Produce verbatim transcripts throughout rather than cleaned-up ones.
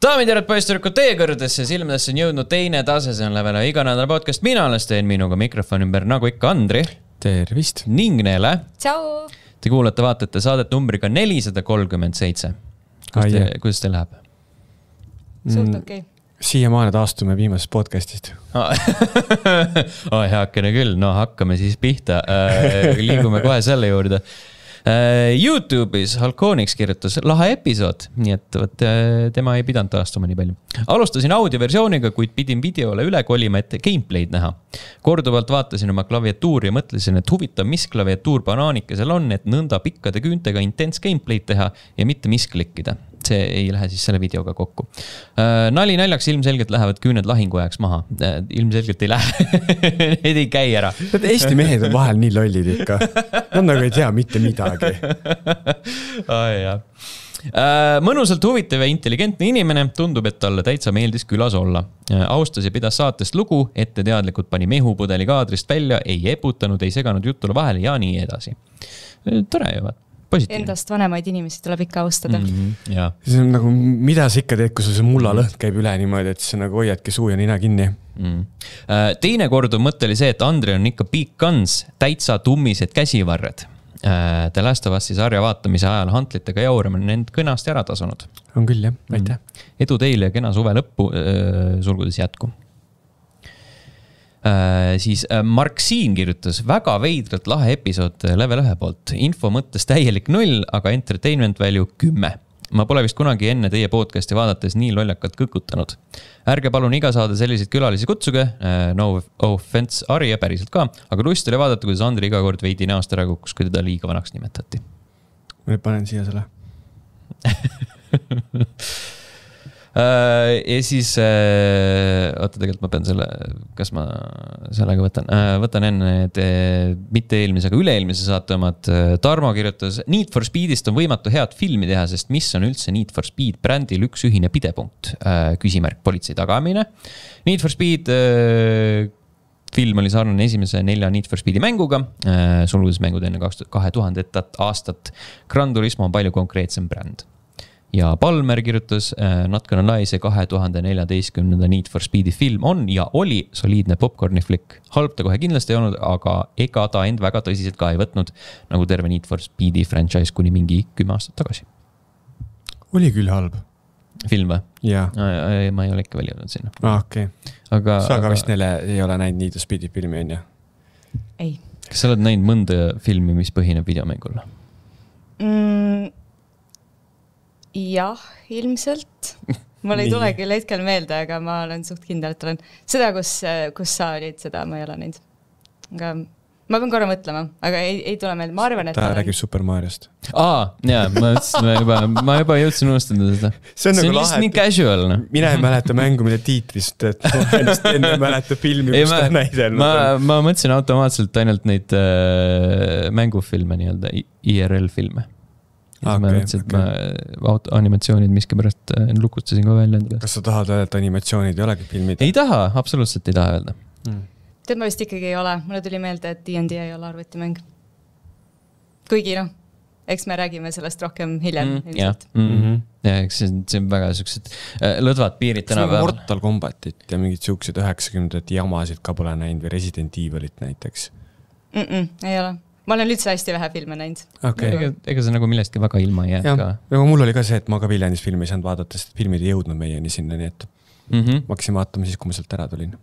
Daamid ja poisturkud, teie kõrgedesse silmadesse on jõudnud teine tase, see on Level iga nädala podcast. Mina olen teen minuga mikrofon ümber nagu ikka Andri. Tervist. Ning Neele. Tšau. Te kuulate vaatate saadet numbriga nelisada kolmkümmend seitse. Kuidas, te, kuidas te läheb? Suht okei. Okay. Siiamaani taastume viimasest podcastist. oh, heakene küll, no hakkame siis pihta. Liigume kohe selle juurde. YouTube'is Halkonix kirjutas lahe episood, nii et võt, tema ei pidanud taastuma nii palju. Alustasin audioversiooniga, kuid pidin videole üle kolima, et gameplay'd näha. Korduvalt vaatasin oma klaviatuuri ja mõtlesin, et huvitav, mis klaviatuur banaanikesel on, et nõnda pikkade küüntega intens gameplay'd teha ja mitte misklikkida. See ei lähe siis selle videoga kokku. Nali naljaks ilmselgelt lähevad küüned lahingu ajaks maha. Ilmselgelt ei lähe. Need ei käi ära. Need Eesti mehed on vahel nii lollid ikka. Nad nagu ei tea mitte midagi. Oh, jah. Mõnusalt huvitav ja intelligentne inimene, tundub, et talle täitsa meeldis külas olla. Austas ja pidas saatest lugu, ette teadlikult pani mehupudeli kaadrist välja, ei eputanud, ei seganud jutule vahele ja nii edasi. Tore ju, vaat. Positiivne. Endast vanemaid inimesi tuleb ikka austada. Mm-hmm, ja. See on nagu, mida sa ikka teed, kui sul see mulla lõhn käib üle niimoodi, et sa nagu hoiadki suu ja nina kinni. Mm. Teine kordu mõte oli see, et Andri on ikka big guns, täitsa tummised käsivarred. The Last of Us'i sarja vaatamise ajal hantlitega jaurame nend kõnast ära tasunud. On küll, jah. Aitäh. Mm. Edu teile ja kena suve lõppu, sulgudes jätku. Äh, siis Mark Siin kirjutas väga veidralt lahe episood Level ühe poolt. Info mõttes täielik null, aga entertainment value kümme. Ma pole vist kunagi enne teie podcasti vaadates nii lollakalt kõkutanud. Ärge palun iga saada selliseid külalisi kutsuge, no offense Ari ja päriselt ka, aga lust oli vaadata, kuidas Andri iga kord veidi näost ära kukkus, kui teda liiga vanaks nimetati. Ma nüüd panen siia selle. Uh, ja siis uh, oota, tegelikult ma pean selle, kas ma sellega võtan uh, võtan enne need uh, mitte eelmise, aga üle-eelmise saate omad. uh, Tarmo kirjutas, Need for Speedist on võimatu head filmi teha, sest mis on üldse Need for Speed brändil üks ühine pidepunkt, uh, küsimärk politsei tagamine. Need for Speed uh, film oli sarnane esimese nelja Need for Speedi mänguga, uh, sulgudes mängud enne kahe tuhande aastat. Gran Turismo on palju konkreetsem bränd. Ja Palmer kirjutas, Not Gonna Lie, see kahe tuhande neljateistkümnenda Need for Speedi film on ja oli soliidne popcorni flick. Halb ta kohe kindlasti ei olnud, aga ega ta end väga tõsiselt ka ei võtnud, nagu terve Need for Speedi franchise kuni mingi kümme aastat tagasi. Oli küll halb. Film või? Jaa. Ma ei ole ikka veel jõudnud sinna. Ah, okei. Okay. Aga, sa ka aga... vist neile ei ole näinud Need for Speedi filmi, on ja? Ei. Kas sa oled näinud mõnda filmi, mis põhineb videomängul? Mm. Jah, ilmselt. Mul ei tule küll hetkel meelde, aga ma olen suht kindel, et olen seda, kus, kus sa olid, seda ma ei ole näinud. Aga ma pean korra mõtlema, aga ei, ei tule meelde. Ma arvan, et ta olen... räägib Super Mariost. Aa, jaa, ma, ma, juba, ma juba jõudsin unustada seda. See on, see nagu on lihtsalt nii casual. No? Mina ei mäleta mängu, mille tiitrist, et enne ei mäleta filmi, kus ta näidelnud. Ma, ma mõtlesin automaatselt ainult neid äh, mängufilme, nii-öelda I R L-filme. Ja okay, ma mõtlesin, et okay. ma auto, animatsioonid miski pärast lukustasin ka välja. Kas sa tahad öelda, et animatsioonid ei olegi filmid? Ei taha, absoluutselt ei taha öelda. Hmm. Tead ma vist ikkagi ei ole. Mulle tuli meelde, et D and D ei ole arvutimäng. Kuigi noh, eks me räägime sellest rohkem hiljem. Mm, ja, mm-hmm. ja eks see, see on väga sellised äh, lõdvad piirid täna peal. Mortal Kombatit ja mingid siuksed üheksakümnendad jamasid ka pole näinud või Resident Evilit näiteks. Mm-mm, ei ole. Ma olen üldse hästi vähe filme näinud. Okay. Ega, ega see nagu millestki väga ilma ei jää ka. Ja mul oli ka see, et ma ka Viljandis filmi ei saanud vaadata, sest filmid ei jõudnud meieni sinna, nii et mm-hmm. ma hakkasin vaatama siis, kui ma sealt ära tulin.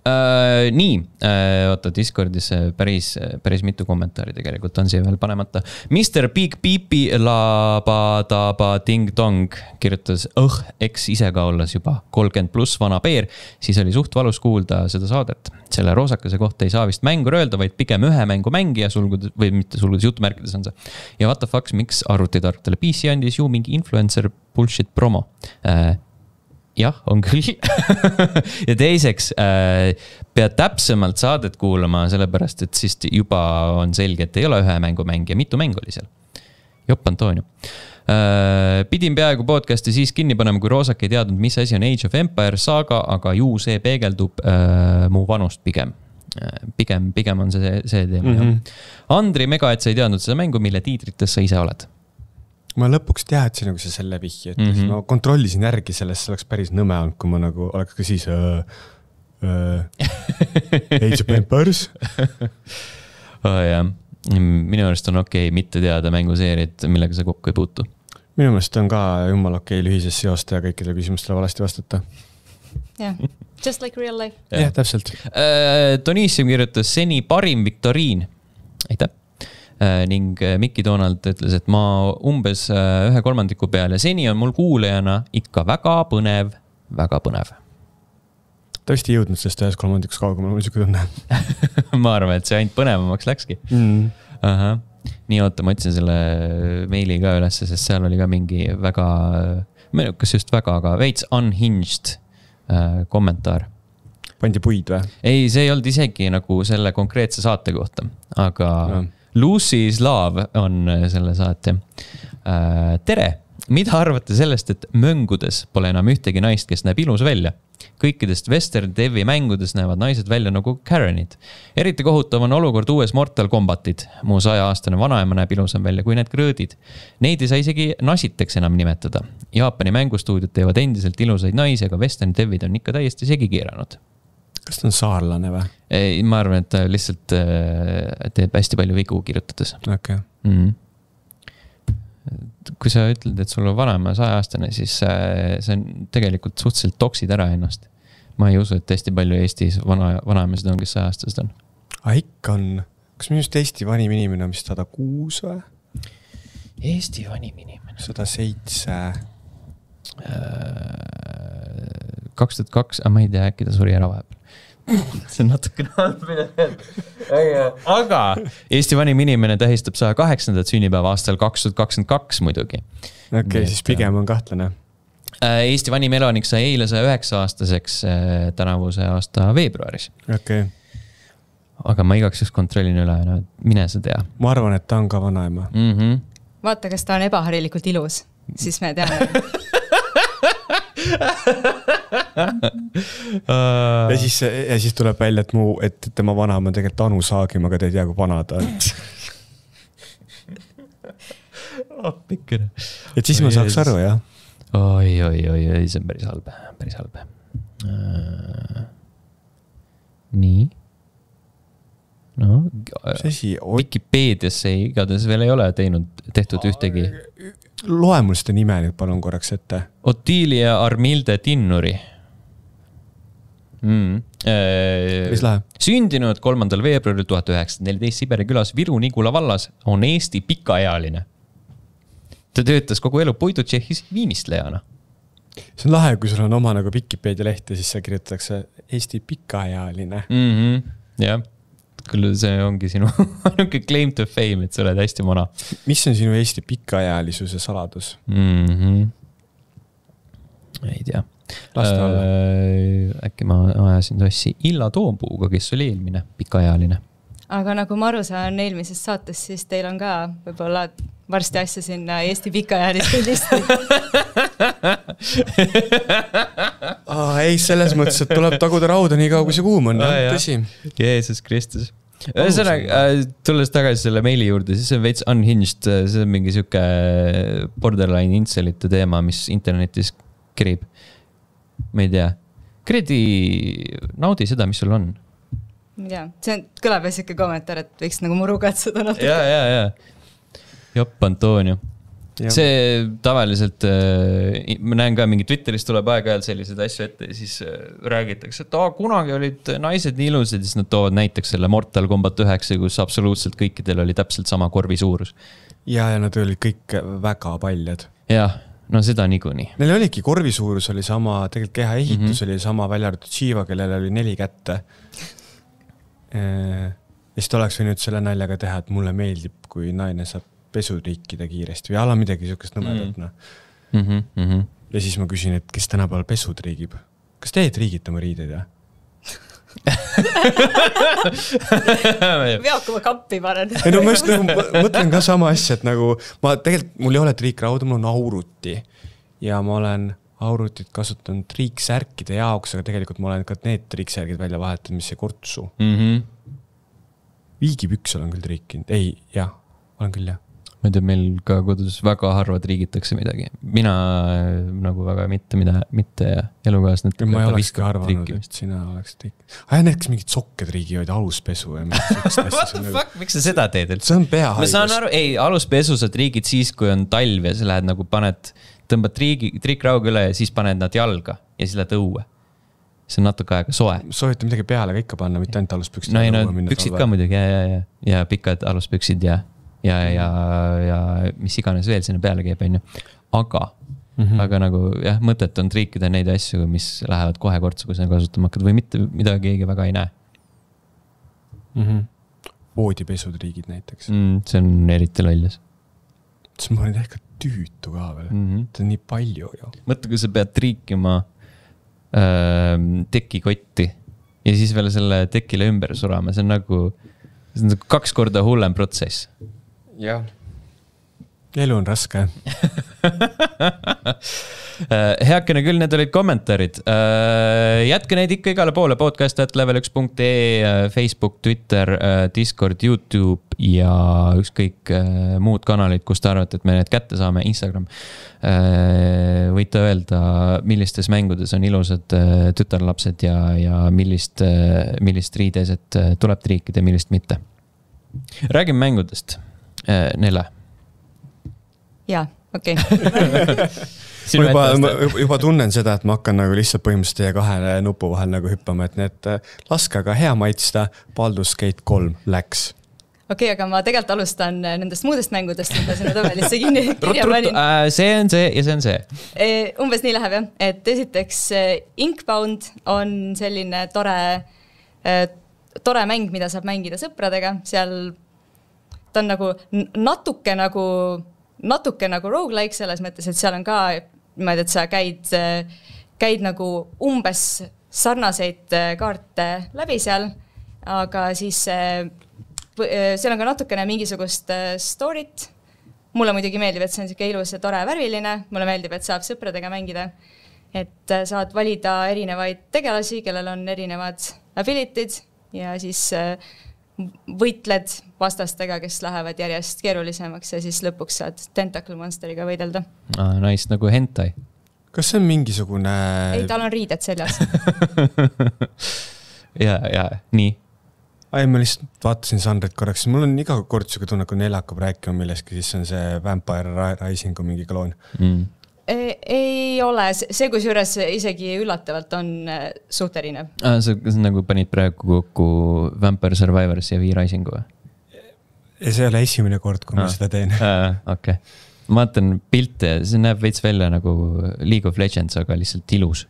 Uh, nii, uh, oota, Discordis päris, päris mitu kommentaari tegelikult on siia veel panemata. mister Big Pipi labadaba ding dong kirjutas, õh, eks ise ka olles juba kolmkümmend pluss vana peer, siis oli suht valus kuulda seda saadet. Selle roosakese kohta ei saa vist mängur öelda, vaid pigem ühe mängu mängija, sulgudes, või mitte sulgudes, jutumärkides on see. Ja what the fuck, miks arvutitarktele P C andis ju mingi influencer bullshit promo? Uh, Jah, on küll. Ja teiseks äh, pead täpsemalt saadet kuulama, sellepärast, et siis juba on selge, et ei ole ühe mängu mängija, mitu mängu oli seal. Jopp Antonio. Äh, pidin peaaegu podcasti siis kinni panema, kui Roosak ei teadnud, mis asi on Age of Empires saaga, aga ju see peegeldub äh, mu vanust pigem. Pigem, pigem on see, see teema. Mm-hmm. Andri mega, et sa ei teadnud seda mängu, mille tiitrites sa ise oled. ma lõpuks teadsin nagu see selle vihje, et mm -hmm. ma kontrollisin järgi sellest, see oleks päris nõme olnud, kui ma nagu oleks ka siis äh, äh, Age of Empires. oh, jah. Minu arust on okei okay mitte teada mänguseerid, millega sa kokku ei puutu. Minu meelest on ka jumal okei okay lühises seosta ja kõikidele küsimustele valasti vastata. jah, just like real life. jah ja, täpselt. Uh, Donissium kirjutas seni parim viktoriin. Aitäh. Uh, ning Mikki Donald ütles, et ma umbes uh, ühe kolmandiku peal ja seni on mul kuulajana ikka väga põnev, väga põnev. Ta vist ei jõudnud sellest ühes kolmandikus kaugemale, mul siuke tunne. ma arvan, et see ainult põnevamaks läkski. Mm. Aha. Nii oota, ma otsin selle meili ka üles, sest seal oli ka mingi väga, kas just väga, aga veits unhinged äh, kommentaar. Pandi puid või? Ei, see ei olnud isegi nagu selle konkreetse saate kohta, aga no. Lucy's Love on selle saate. Äh, tere! Mida arvate sellest, et möngudes pole enam ühtegi naist, kes näeb ilus välja? Kõikidest Western Devi mängudes näevad naised välja nagu Karenid. Eriti kohutav on olukord uues Mortal Kombatid. Mu saja aastane vanaema näeb ilusam välja kui need krõõdid. Neid ei saa isegi nasiteks enam nimetada. Jaapani mängustuudiod teevad endiselt ilusaid naisi, aga Western Devid on ikka täiesti segi keeranud. Kas ta on saarlane või? Ei, ma arvan, et ta lihtsalt teeb hästi palju vigu kirjutades. Okay. Mm. Kui sa ütled, et sul on vanaema saja aastane, siis see on tegelikult suhteliselt toksid ära ennast. Ma ei usu, et hästi palju Eestis vana, vanaemesid on, kes saja aastased on. Ah, ikka on. Kas minu just Eesti vanim inimene on vist sada kuus või? Eesti vanim inimene? sada seitse kaks tuhat kaks, aga ma ei tea, äkki ta suri ära vahepeal. see on natuke aga Eesti vanim inimene tähistab saja kaheksandat sünnipäeva aastal kaks tuhat kakskümmend kaks muidugi. Okei, okay, siis pigem on kahtlane. Eesti vanim elanik sai eile saja üheksa aastaseks tänavuse aasta veebruaris. Okay. Aga ma igaks just kontrollin üle, no, mine sa tea. Ma arvan, et ta on ka vanaema. Mm -hmm. Vaata, kas ta on ebaharilikult ilus, siis me teame. ja, siis, ja siis tuleb välja, et, mu, et tema vanaema on tegelikult Anu Saagim, aga te ei tea, kui vana ta on. oh, pikkene. Et siis ma saaks aru, jah. Oi, oi, oi, oi, see on päris halb, päris halb. Uh, nii. No, Wikipeediasse igatahes veel ei ole teinud, tehtud ühtegi. Loe mul seda nime nüüd palun korraks ette. Ottilia Armilde Tinnuri. Mm. Mis läheb? Sündinud kolmandal veebruaril tuhat üheksasada neliteist Siberi külas Viru-Nigula vallas on Eesti pikaealine. Ta töötas kogu elu Puidutšehhis viimistlejana. See on lahe, kui sul on oma nagu Wikipedia leht ja siis see kirjutatakse Eesti pikaealine. Mm-hmm. Jah. Küll see ongi sinu claim to fame, et sa oled hästi vana. Mis on sinu Eesti pikaealisuse saladus? Mm-hmm. Ei tea. Äh, äkki ma ajasin tossi Illa Toompuuga, kes oli eelmine pikaealine. Aga nagu ma aru saan eelmisest saatest, siis teil on ka võib-olla varsti asja sinna Eesti pikaealiste listi. ah, ei, selles mõttes, et tuleb taguda rauda nii kaua, kui see kuum on. Ah, tõsi. Jeesus Kristus. Ühesõnaga, tulles tagasi selle meili juurde, siis on veits unhinged, see on mingi siuke borderline inselite teema, mis internetis kerib. Ma ei tea. Kredi, naudi seda, mis sul on. Ja, see on, kõlab siuke kommentaar, et võiks nagu muru katsuda. Ja, ja, ja. Jopp Antonio. Ja. See tavaliselt, ma näen ka mingi Twitteris tuleb aeg-ajalt sellised asju ette ja siis räägitakse, et aa, kunagi olid naised nii ilusad ja siis nad toovad näiteks selle Mortal Kombat üheksa, kus absoluutselt kõikidel oli täpselt sama korvi suurus. Ja, ja nad olid kõik väga paljad. Jah, no seda niikuinii. Neil oligi korvi suurus oli sama, tegelikult keha ehitus mm-hmm. oli sama välja arvatud Shiva, kellel oli neli kätte. Ja siis ta oleks võinud selle naljaga teha, et mulle meeldib, kui naine saab pesutriikida kiiresti või ala midagi siukest nõmedat. No. Mm-hmm, mm-hmm. Ja siis ma küsin, et kes tänapäeval pesutriigib? Kas teed riigid oma riideid, jah? Veok oma kappi panen. Ei, no ma just nagu mõtlen ka sama asja, et nagu ma tegelikult, mul ei ole triikrauda, mul on auruti ja ma olen aurutit kasutanud triiksärkide jaoks, aga tegelikult ma olen ka need triiksärgid välja vahetanud, mis see kortsu. Mm-hmm. Viigipüks olen küll triikinud. Ei, jah, olen küll, jah. ma ei tea, meil ka kodus väga harva triigitakse midagi. Mina nagu väga mitte, mida, mitte elukaasnet. Ma ei oleks ka arvanud, et sina oleks triiginud. Aja need, kes mingid sokked riigivad, aluspesu ja What the fuck, miks sa seda teed? See on peahaigus. Ma saan aru, ei, aluspesu sa triigid siis, kui on talv ja sa lähed nagu paned, tõmbad triigi, triikrauga üle ja siis paned nad jalga ja siis lähed õue. See on natuke aega soe. Soovite midagi peale ka ikka panna, mitte ainult aluspüksid. No ei, no püksid ka muidugi ja, ja, ja, ja pikad aluspüksid ja ja, ja, ja mis iganes veel sinna peale käib, on ju. Aga, mm -hmm. aga nagu jah, mõtet on triikida neid asju, mis lähevad kohe kortsu, kui sa kasutama hakkad või mitte, mida keegi väga ei näe. Mm -hmm. Voodipesud riigid näiteks. Mm, see on eriti loljas. See ma olin ehk tüütu ka veel. Mm -hmm. See on nii palju ju. Mõtle, kui sa pead triikima äh, tekikotti ja siis veel selle tekile ümber surama, see on nagu, see on nagu kaks korda hullem protsess. Jah. Elu on raske. Heakene küll, need olid kommentaarid. Jätke neid ikka igale poole. Podcast at level üks punkt ee, Facebook, Twitter, Discord, YouTube ja ükskõik muud kanalid, kus te arvate, et me need kätte saame. Instagram. Võite öelda, millistes mängudes on ilusad tütarlapsed ja, ja millist, millist riideset tuleb triikida, millist mitte. Räägime mängudest. Nele. Jaa, okei. Okay. Ma juba, juba tunnen seda, et ma hakkan nagu lihtsalt põhimõtteliselt teie kahe nupu vahel nagu hüppama, et need laske aga hea maitsta. Baldur's Gate kolm läks. Okei, okay, aga ma tegelikult alustan nendest muudest mängudest, mida sinna tabelisse kinni kirja panin. See on see ja see on see. Umbes nii läheb jah, et esiteks Inkbound on selline tore, tore mäng, mida saab mängida sõpradega. Seal ta on nagu natuke nagu, natuke nagu roguelike selles mõttes, et seal on ka, ma ei tea, et sa käid, käid nagu umbes sarnaseid kaarte läbi seal, aga siis seal on ka natukene mingisugust storyt. Mulle muidugi meeldib, et see on selline ilus ja tore värviline. Mulle meeldib, et saab sõpradega mängida. Et saad valida erinevaid tegelasi, kellel on erinevad abilitid ja siis võitled vastastega, kes lähevad järjest keerulisemaks ja siis lõpuks saad Tentacle Monsteriga võidelda. Ah, nice, nagu hentai. Kas see on mingisugune... Ei, tal on riided seljas. ja, ja, nii. Ai, ma lihtsalt vaatasin Sandrit korraks. Mul on iga kord siuke tunne, kui neil hakkab rääkima milleski, siis on see Vampire Risingu mingi kloon. Mm. Ei, ei ole, see kus juures isegi üllatavalt on suht erinev. Ah, sa nagu panid praegu kokku Vampire Survivors ja V-Risingu või? Ja see ei ole esimene kord, kui ah. ma seda teen. Ah, okei. Okay. Ma vaatan pilte, see näeb veits välja nagu League of Legends, aga lihtsalt ilus.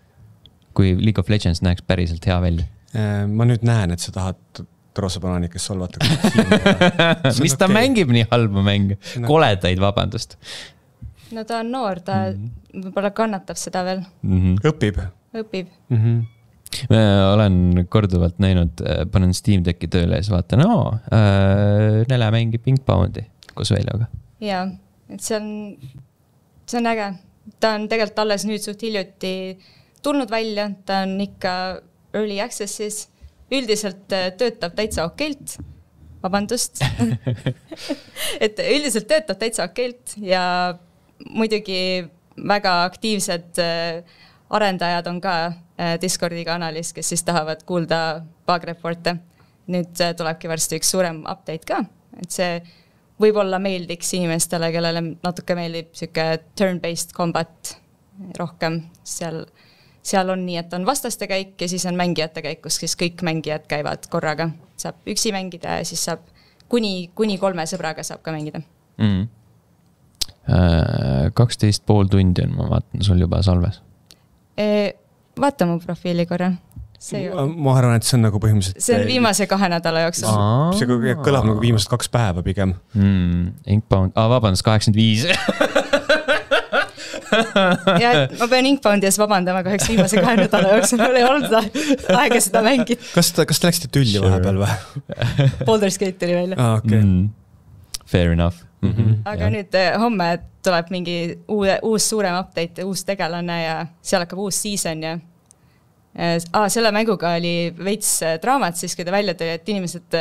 Kui League of Legends näeks päriselt hea välja. Ma nüüd näen, et sa tahad Rosabanaanikest solvata. Mis ta okay. mängib nii halba mänge? Koledaid, vabandust. No ta on noor, ta mm-hmm. võib-olla kannatab seda veel. Mm-hmm. Õpib. Õpib. Mm-hmm. Ma olen korduvalt näinud, panen Steam Decki tööle ja siis vaatan, oo, äh, Nele mängib Inkboundi koos Veljaga. Jaa, et see on, see on äge. Ta on tegelikult alles nüüd suht hiljuti tulnud välja, ta on ikka early access'is. Üldiselt töötab täitsa okeilt. Vabandust. et üldiselt töötab täitsa okeilt ja muidugi väga aktiivsed arendajad on ka Discordi kanalis, kes siis tahavad kuulda bug reporte. Nüüd tulebki varsti üks suurem update ka, et see võib-olla meeldiks inimestele, kellele natuke meeldib siuke turn-based combat rohkem. Seal, seal on nii, et on vastaste käik ja siis on mängijate käik, kus siis kõik mängijad käivad korraga. Saab üksi mängida ja siis saab kuni, kuni kolme sõbraga saab ka mängida. Mm. kaksteist pool tundi on, ma vaatan sul juba salves. Vaata mu profiili korra. Ma, ma arvan, et see on nagu põhimõtteliselt... See on viimase kahe nädala jooksul. Aa. See kõlab nagu viimased kaks päeva pigem. Mm, Inkbound, ah, vabandust, kaheksakümmend viis. ja ma pean Inkboundi ees vabandama kaheks viimase kahe nädala jooksul. Mul ei olnud aega seda mängida. Kas, ta, kas te läksite tülli sure. vahepeal või? Baldur's Gate tuli välja. Ah, okay. mm, fair enough. Mm-hmm. Aga ja. Nüüd homme tuleb mingi uue, uus suurem update, uus tegelane ja seal hakkab uus season ja ah, selle mänguga oli veits draamat siis, kui ta välja tuli, et inimesed,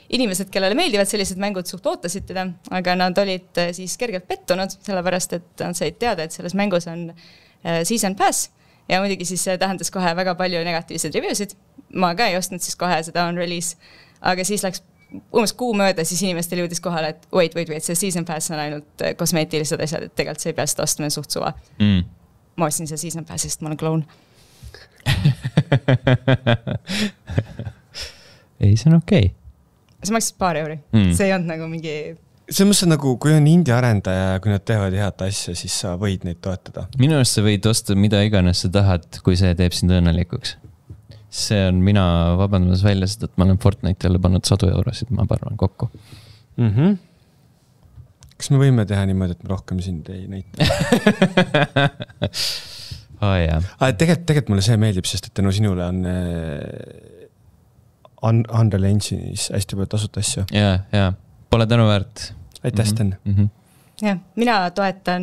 inimesed, kellele meeldivad sellised mängud, suht ootasid teda, aga nad olid siis kergelt pettunud, sellepärast et nad said teada, et selles mängus on season pass ja muidugi siis see tähendas kohe väga palju negatiivseid reviewsid. Ma ka ei ostnud siis kohe seda on release, aga siis läks umbes kuu mööda, siis inimestel jõudis kohale, et wait, wait, wait, see season pass on ainult kosmeetilised asjad, et tegelikult see ei pea seda ostma suht suva. Mm. Ma ostsin see season pass, sest ma olen kloun. ei, see on okei. Okay. See maksis paar euri. Mm. See ei olnud nagu mingi... See mõttes nagu, kui on indie arendaja ja kui nad teevad head asja, siis sa võid neid toetada. Minu arust sa võid osta mida iganes sa tahad, kui see teeb sind õnnelikuks. See on mina vabandamas välja seda, et ma olen Fortnite jälle pannud sadu eurosid, ma arvan, kokku. Mm-hmm. Kas me võime teha niimoodi, et me rohkem sind ei näita? oh, jah. Tegelikult, tegelikult mulle see meeldib, sest et tänu sinule on un Unreal Engine'is hästi palju tasuta asju. Jaa, jaa. Pole tänu väärt. Aitäh, Sten. Mm -hmm. Ja, mina toetan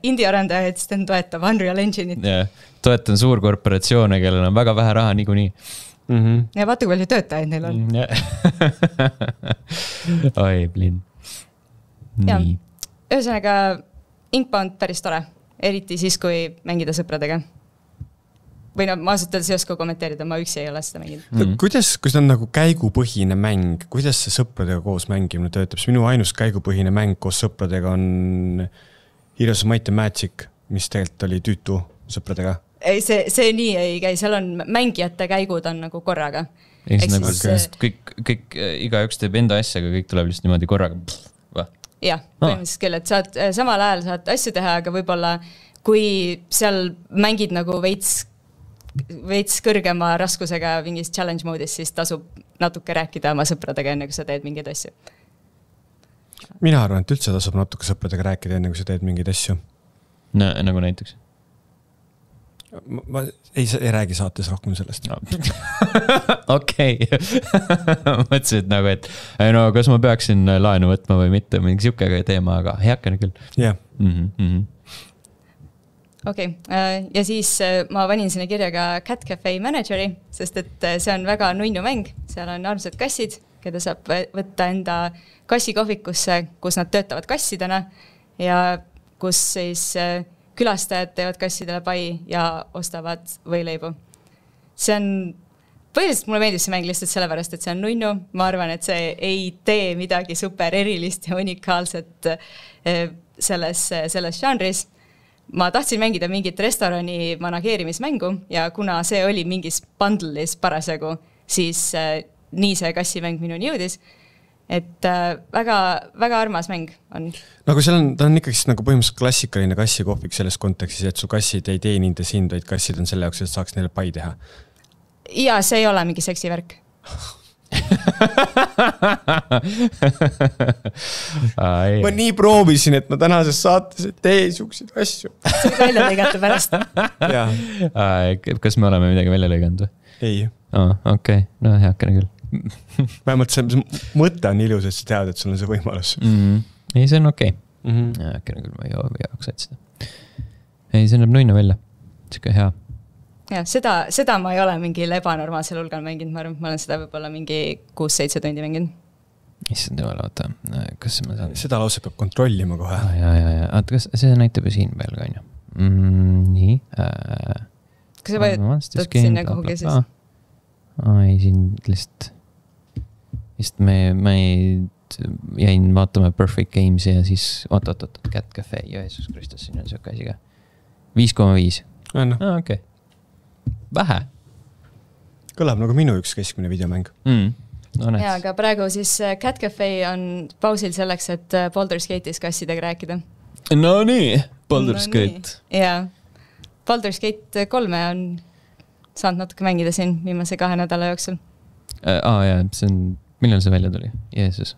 indie arendajaid, Sten toetab Unreal Engine'it. Ja, toetan suurkorporatsioone, kellel on väga vähe raha niikuinii. Mm -hmm. Ja vaata, kui palju töötajaid neil on. Oi, blin. Nii. Ühesõnaga, Inkbound päris tore. Eriti siis, kui mängida sõpradega. Või no, ma ausalt öeldes ei oska kommenteerida, ma üksi ei ole seda mänginud. Mm. Kuidas, kui see on nagu käigupõhine mäng, kuidas see sõpradega koos mängimine töötab? Minu ainus käigupõhine mäng koos sõpradega on Heroes of Might and Magic, mis tegelikult oli tüütu sõpradega. Ei, see, see nii ei käi, seal on mängijate käigud on nagu korraga. Eks nagu see... kõik, kõik, igaüks teeb enda asja, aga kõik tuleb lihtsalt niimoodi korraga. Jah, põhimõtteliselt küll, et saad, samal ajal saad asju teha, aga võib-olla kui seal mängid nagu veits veits kõrgema raskusega mingis challenge moodis, siis tasub natuke rääkida oma sõpradega enne, kui sa teed mingeid asju. Mina arvan, et üldse tasub natuke sõpradega rääkida enne, kui sa teed mingeid asju. No, nagu näiteks? Ma, ma ei, ei räägi saates rohkem sellest. No. Okei. Mõtlesin, et nagu, et no, kas ma peaksin laenu võtma või mitte, mingi siuke teema, aga heakene küll. Jah. Yeah. Mm -hmm. Okei, okay. Ja siis ma panin sinna kirja ka Cat Cafe Manageri, sest et see on väga nunnu mäng. Seal on armsad kassid, keda saab võtta enda kassikohvikusse, kus nad töötavad kassidena ja kus siis külastajad teevad kassidele pai ja ostavad võileibu. See on, põhiliselt mulle meeldib see mäng lihtsalt sellepärast, et see on nunnu. Ma arvan, et see ei tee midagi super erilist ja unikaalset selles, selles žanris. Ma tahtsin mängida mingit restorani manageerimismängu ja kuna see oli mingis bundle'is parasjagu, siis äh, nii see kassimäng minuni jõudis. Et äh, väga, väga armas mäng on. Nagu seal on, ta on ikkagi nagu põhimõtteliselt klassikaline kassikohvik selles kontekstis, et su kassid ei tee nende sind, vaid kassid on selle jaoks, et saaks neile pai teha. Ja see ei ole mingi seksivärk. ma nii proovisin, et ma tänases saates et tee siukseid asju. See on välja lõigata pärast. Kas me oleme midagi välja lõiganud või? Ei. Oh, okei, okay. No heakene küll. Vähemalt see mõte on ilus, et sa tead, et sul on see võimalus. Mm -hmm. Ei, see on okei okay. mm -hmm. Heakene küll, ma ei jaoks otsida. Ei, see näeb nunnu välja. Siuke hea. Ja, seda, seda ma ei ole mingil ebanormaalsel hulgal mänginud, ma arvan, ma olen seda võib-olla mingi kuus-seitse tundi mänginud. Issand jumal, oota, kas ma saan... Seda lause peab kontrollima kohe. Ah, ja, ja, ja, oota, kas see näitab ju siin peal ka, on ju? Mm, nii. Äh, kas sa võid sinna kuhugi siis? Ai, siin lihtsalt... Vist me, me jäin vaatama Perfect Gamesi ja siis... Oot, oot, oot, Cat Cafe, Jeesus Kristus, siin on siuke asi ka. viis koma viis. Ah, no. ah, okei. Okay. Vähe. Kõlab nagu minu üks keskmine videomäng. Mm. No, ja, aga praegu siis Cat Cafe on pausil selleks, et Baldur's Gate'is kassidega rääkida. No nii, Baldur's no, Gate. Ja, Baldur's Gate kolme on saanud natuke mängida siin viimase kahe nädala jooksul. Aa, ah, jaa, see on, millal see välja tuli? Jeesus.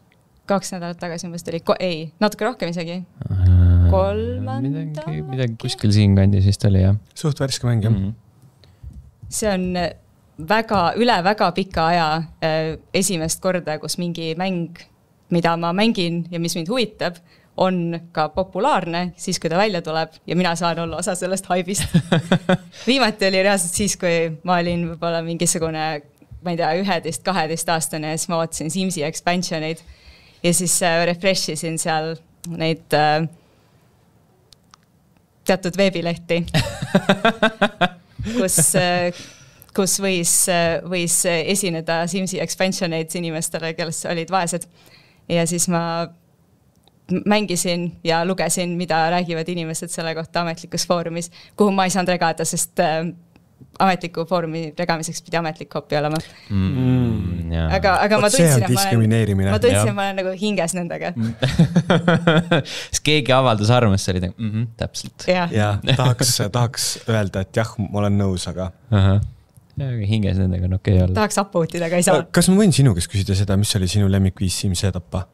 Kaks nädalat tagasi umbes tuli. Ko ei, natuke rohkem isegi. Kolmanda? Midagi, midagi kuskil siin kandis vist oli, jah. Suht värske mäng, jah. Mm -hmm. See on väga, üle väga pika aja äh, esimest korda, kus mingi mäng, mida ma mängin ja mis mind huvitab, on ka populaarne siis, kui ta välja tuleb ja mina saan olla osa sellest haibist. Viimati oli reaalselt siis, kui ma olin võib-olla mingisugune ma ei tea, üheteist, kaheteist aastane ja siis ma vaatasin Simsi expansioneid ja siis refresh isin seal neid äh, teatud veebilehti, kus, kus võis, võis esineda Simsi expansioneid inimestele, kes olid vaesed. Ja siis ma mängisin ja lugesin, mida räägivad inimesed selle kohta ametlikus foorumis, kuhu ma ei saanud regada, sest ametliku foorumi regamiseks pidi ametlik kopi olema. Mm, aga aga ma tundsin, et ma olen, ma tundsin, et ma olen nagu hinges nendega. Siis keegi avaldas arvamust, see oli mm -hmm, täpselt. Ja, ja tahaks, tahaks öelda, et jah, ma olen nõus, aga... Aha. Ja, hinges nendega on okei olla. Tahaks upvote'ida, aga ei saa. Kas ma võin sinu käest küsida seda, mis oli sinu lemmikviis Simsi tappa?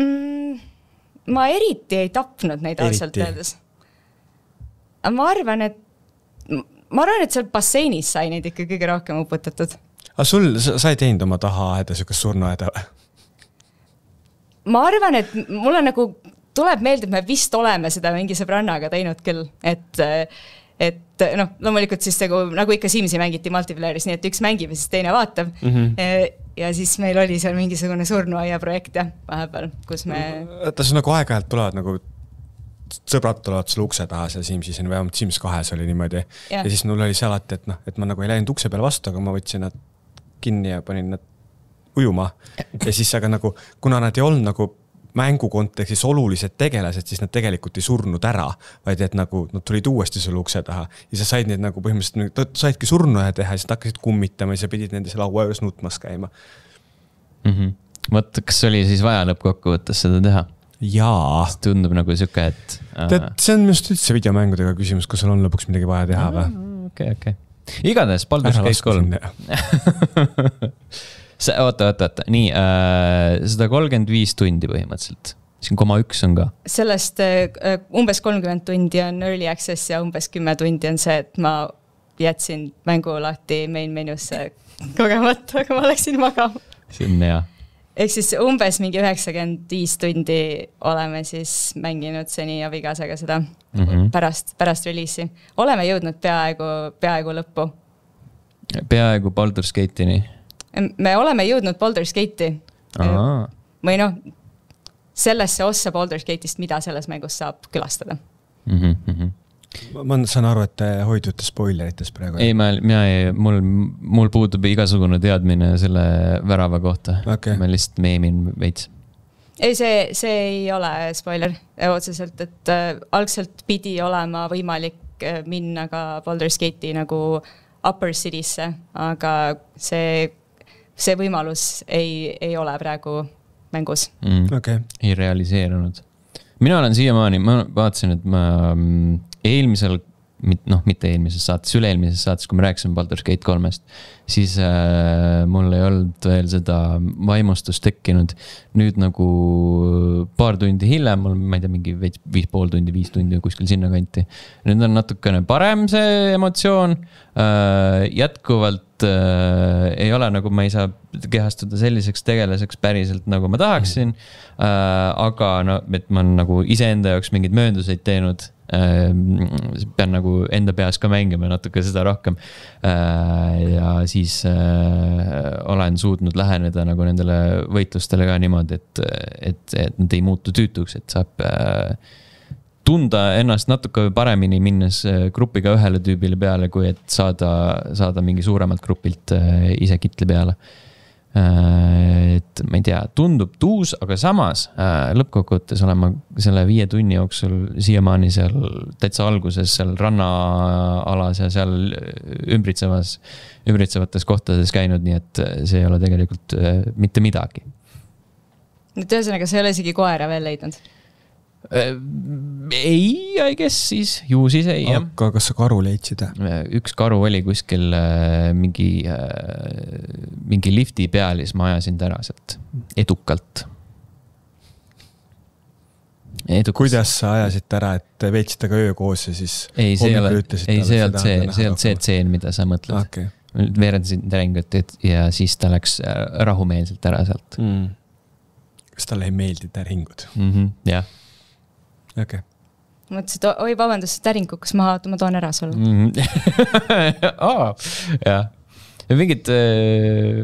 Mm, ma eriti ei tapnud neid ausalt öeldes. Ma arvan, et ma arvan, et seal basseinis sai neid ikka kõige rohkem uputatud. Aga sul, sa ei teinud oma taha aeda, sükast surnuaeda või? Ma arvan, et mulle nagu tuleb meelde, et me vist oleme seda mingi sõbrannaga teinud küll, et, et noh, loomulikult siis nagu, nagu ikka Simsi mängiti multiplayer'is, nii et üks mängib ja siis teine vaatab. Mm -hmm. Ja siis meil oli seal mingisugune surnuaia projekt ja vahepeal, kus me... Ta see nagu aeg-ajalt tulevad nagu sõbrad tulevad sulle ukse taha seal Simsis, või vähemalt Sims kahes oli niimoodi. Ja. ja siis mul oli see alati, et, noh, et ma nagu ei läinud ukse peale vastu, aga ma võtsin nad kinni ja panin nad ujuma. Ja siis aga nagu, kuna nad ei olnud nagu mängu kontekstis olulised tegelased, siis nad tegelikult ei surnud ära, vaid et nagu nad tulid uuesti sulle ukse taha. Ja sa said neid nagu põhimõtteliselt, saidki surnuaja teha ja siis hakkasid kummitama ja sa pidid nende seal laua juures nutmas käima. Mm -hmm. Võt, kas oli siis vaja lõppkokkuvõttes seda teha? Jaa. Tundub nagu süke, et... Tead, see on just üldse videomängudega küsimus, kus sul on lõpuks midagi vaja teha või? Okei, okei. Igatahes, Baldur's Gate kolm. Oota, oota, oota. Nii, sada kolmkümmend viis tundi põhimõtteliselt. Siin koma üks on ka. Sellest uh, umbes kolmkümmend tundi on early access ja umbes kümme tundi on see, et ma jätsin mängu lahti main menusse kogemata, aga ma läksin magama. See on hea. Ehk siis umbes mingi üheksakümmend viis tundi oleme siis mänginud seni Abigasega seda mm -hmm. pärast, pärast reliisi. Oleme jõudnud peaaegu, peaaegu lõppu. Peaaegu Baldur's Gate'ini? Me oleme jõudnud Baldur's Gate'i. Aha. Või noh, sellesse ossa Baldur's Gate'ist, mida selles mängus saab külastada. Mm -hmm. Ma saan aru, et te hoidute spoilerites praegu. Ei, ma, mina ei, mul, mul puudub igasugune teadmine selle värava kohta. Okay. Ma lihtsalt meemin veits. Ei, see, see ei ole spoiler otseselt, et äh, algselt pidi olema võimalik äh, minna ka Baldur's Gate'i nagu Upper City'sse, aga see, see võimalus ei, ei ole praegu mängus. Mm. Okay. Ei realiseerunud. Mina olen siiamaani, ma vaatasin, et ma eelmisel, noh, mitte eelmises saates, üle-eelmises saates, kui me rääkisime Baldur's Gate kolmest, siis äh, mul ei olnud veel seda vaimustust tekkinud. Nüüd nagu paar tundi hiljem, mul, ma ei tea, mingi viis, viis pool tundi, viis tundi kuskil sinna kanti. Nüüd on natukene parem see emotsioon. Äh, jätkuvalt äh, ei ole nagu, ma ei saa kehastuda selliseks tegelaseks päriselt, nagu ma tahaksin. Äh, aga no, et ma olen nagu iseenda jaoks mingid möönduseid teinud. Pean nagu enda peas ka mängima natuke seda rohkem ja siis olen suutnud läheneda nagu nendele võitlustele ka niimoodi, et, et, et nad ei muutu tüütuks, et saab tunda ennast natuke paremini minnes grupiga ühele tüübile peale, kui et saada, saada mingi suuremalt grupilt ise kitli peale. Et ma ei tea, tundub tuus, aga samas lõppkokkuvõttes olen ma selle viie tunni jooksul siiamaani seal täitsa alguses seal rannaalas ja seal ümbritsevas, ümbritsevates kohtades käinud, nii et see ei ole tegelikult mitte midagi. Nüüd ühesõnaga, sa ei ole isegi koera veel leidnud? Ei, I guess siis, ju siis ei. Aga kas sa karu leidsid? Üks karu oli kuskil mingi, mingi lifti peal, siis ma ajasin ära sealt edukalt. Edukalt. Kuidas sa ajasid ära, et veetsid taga öö koos ja siis... Ei, see ei ole see, see, see, see tseen, mida sa mõtled. Okay. Veerendasin täringut ja siis ta läks rahumeelselt ära sealt. Mm. Kas talle ei meeldi täringud? Mm -hmm, jah. Okay. Mõtlesin, et oi, vabandust, täring kukkus maha, ma toon ära sulle. Mm -hmm. oh, jah. ja mingid,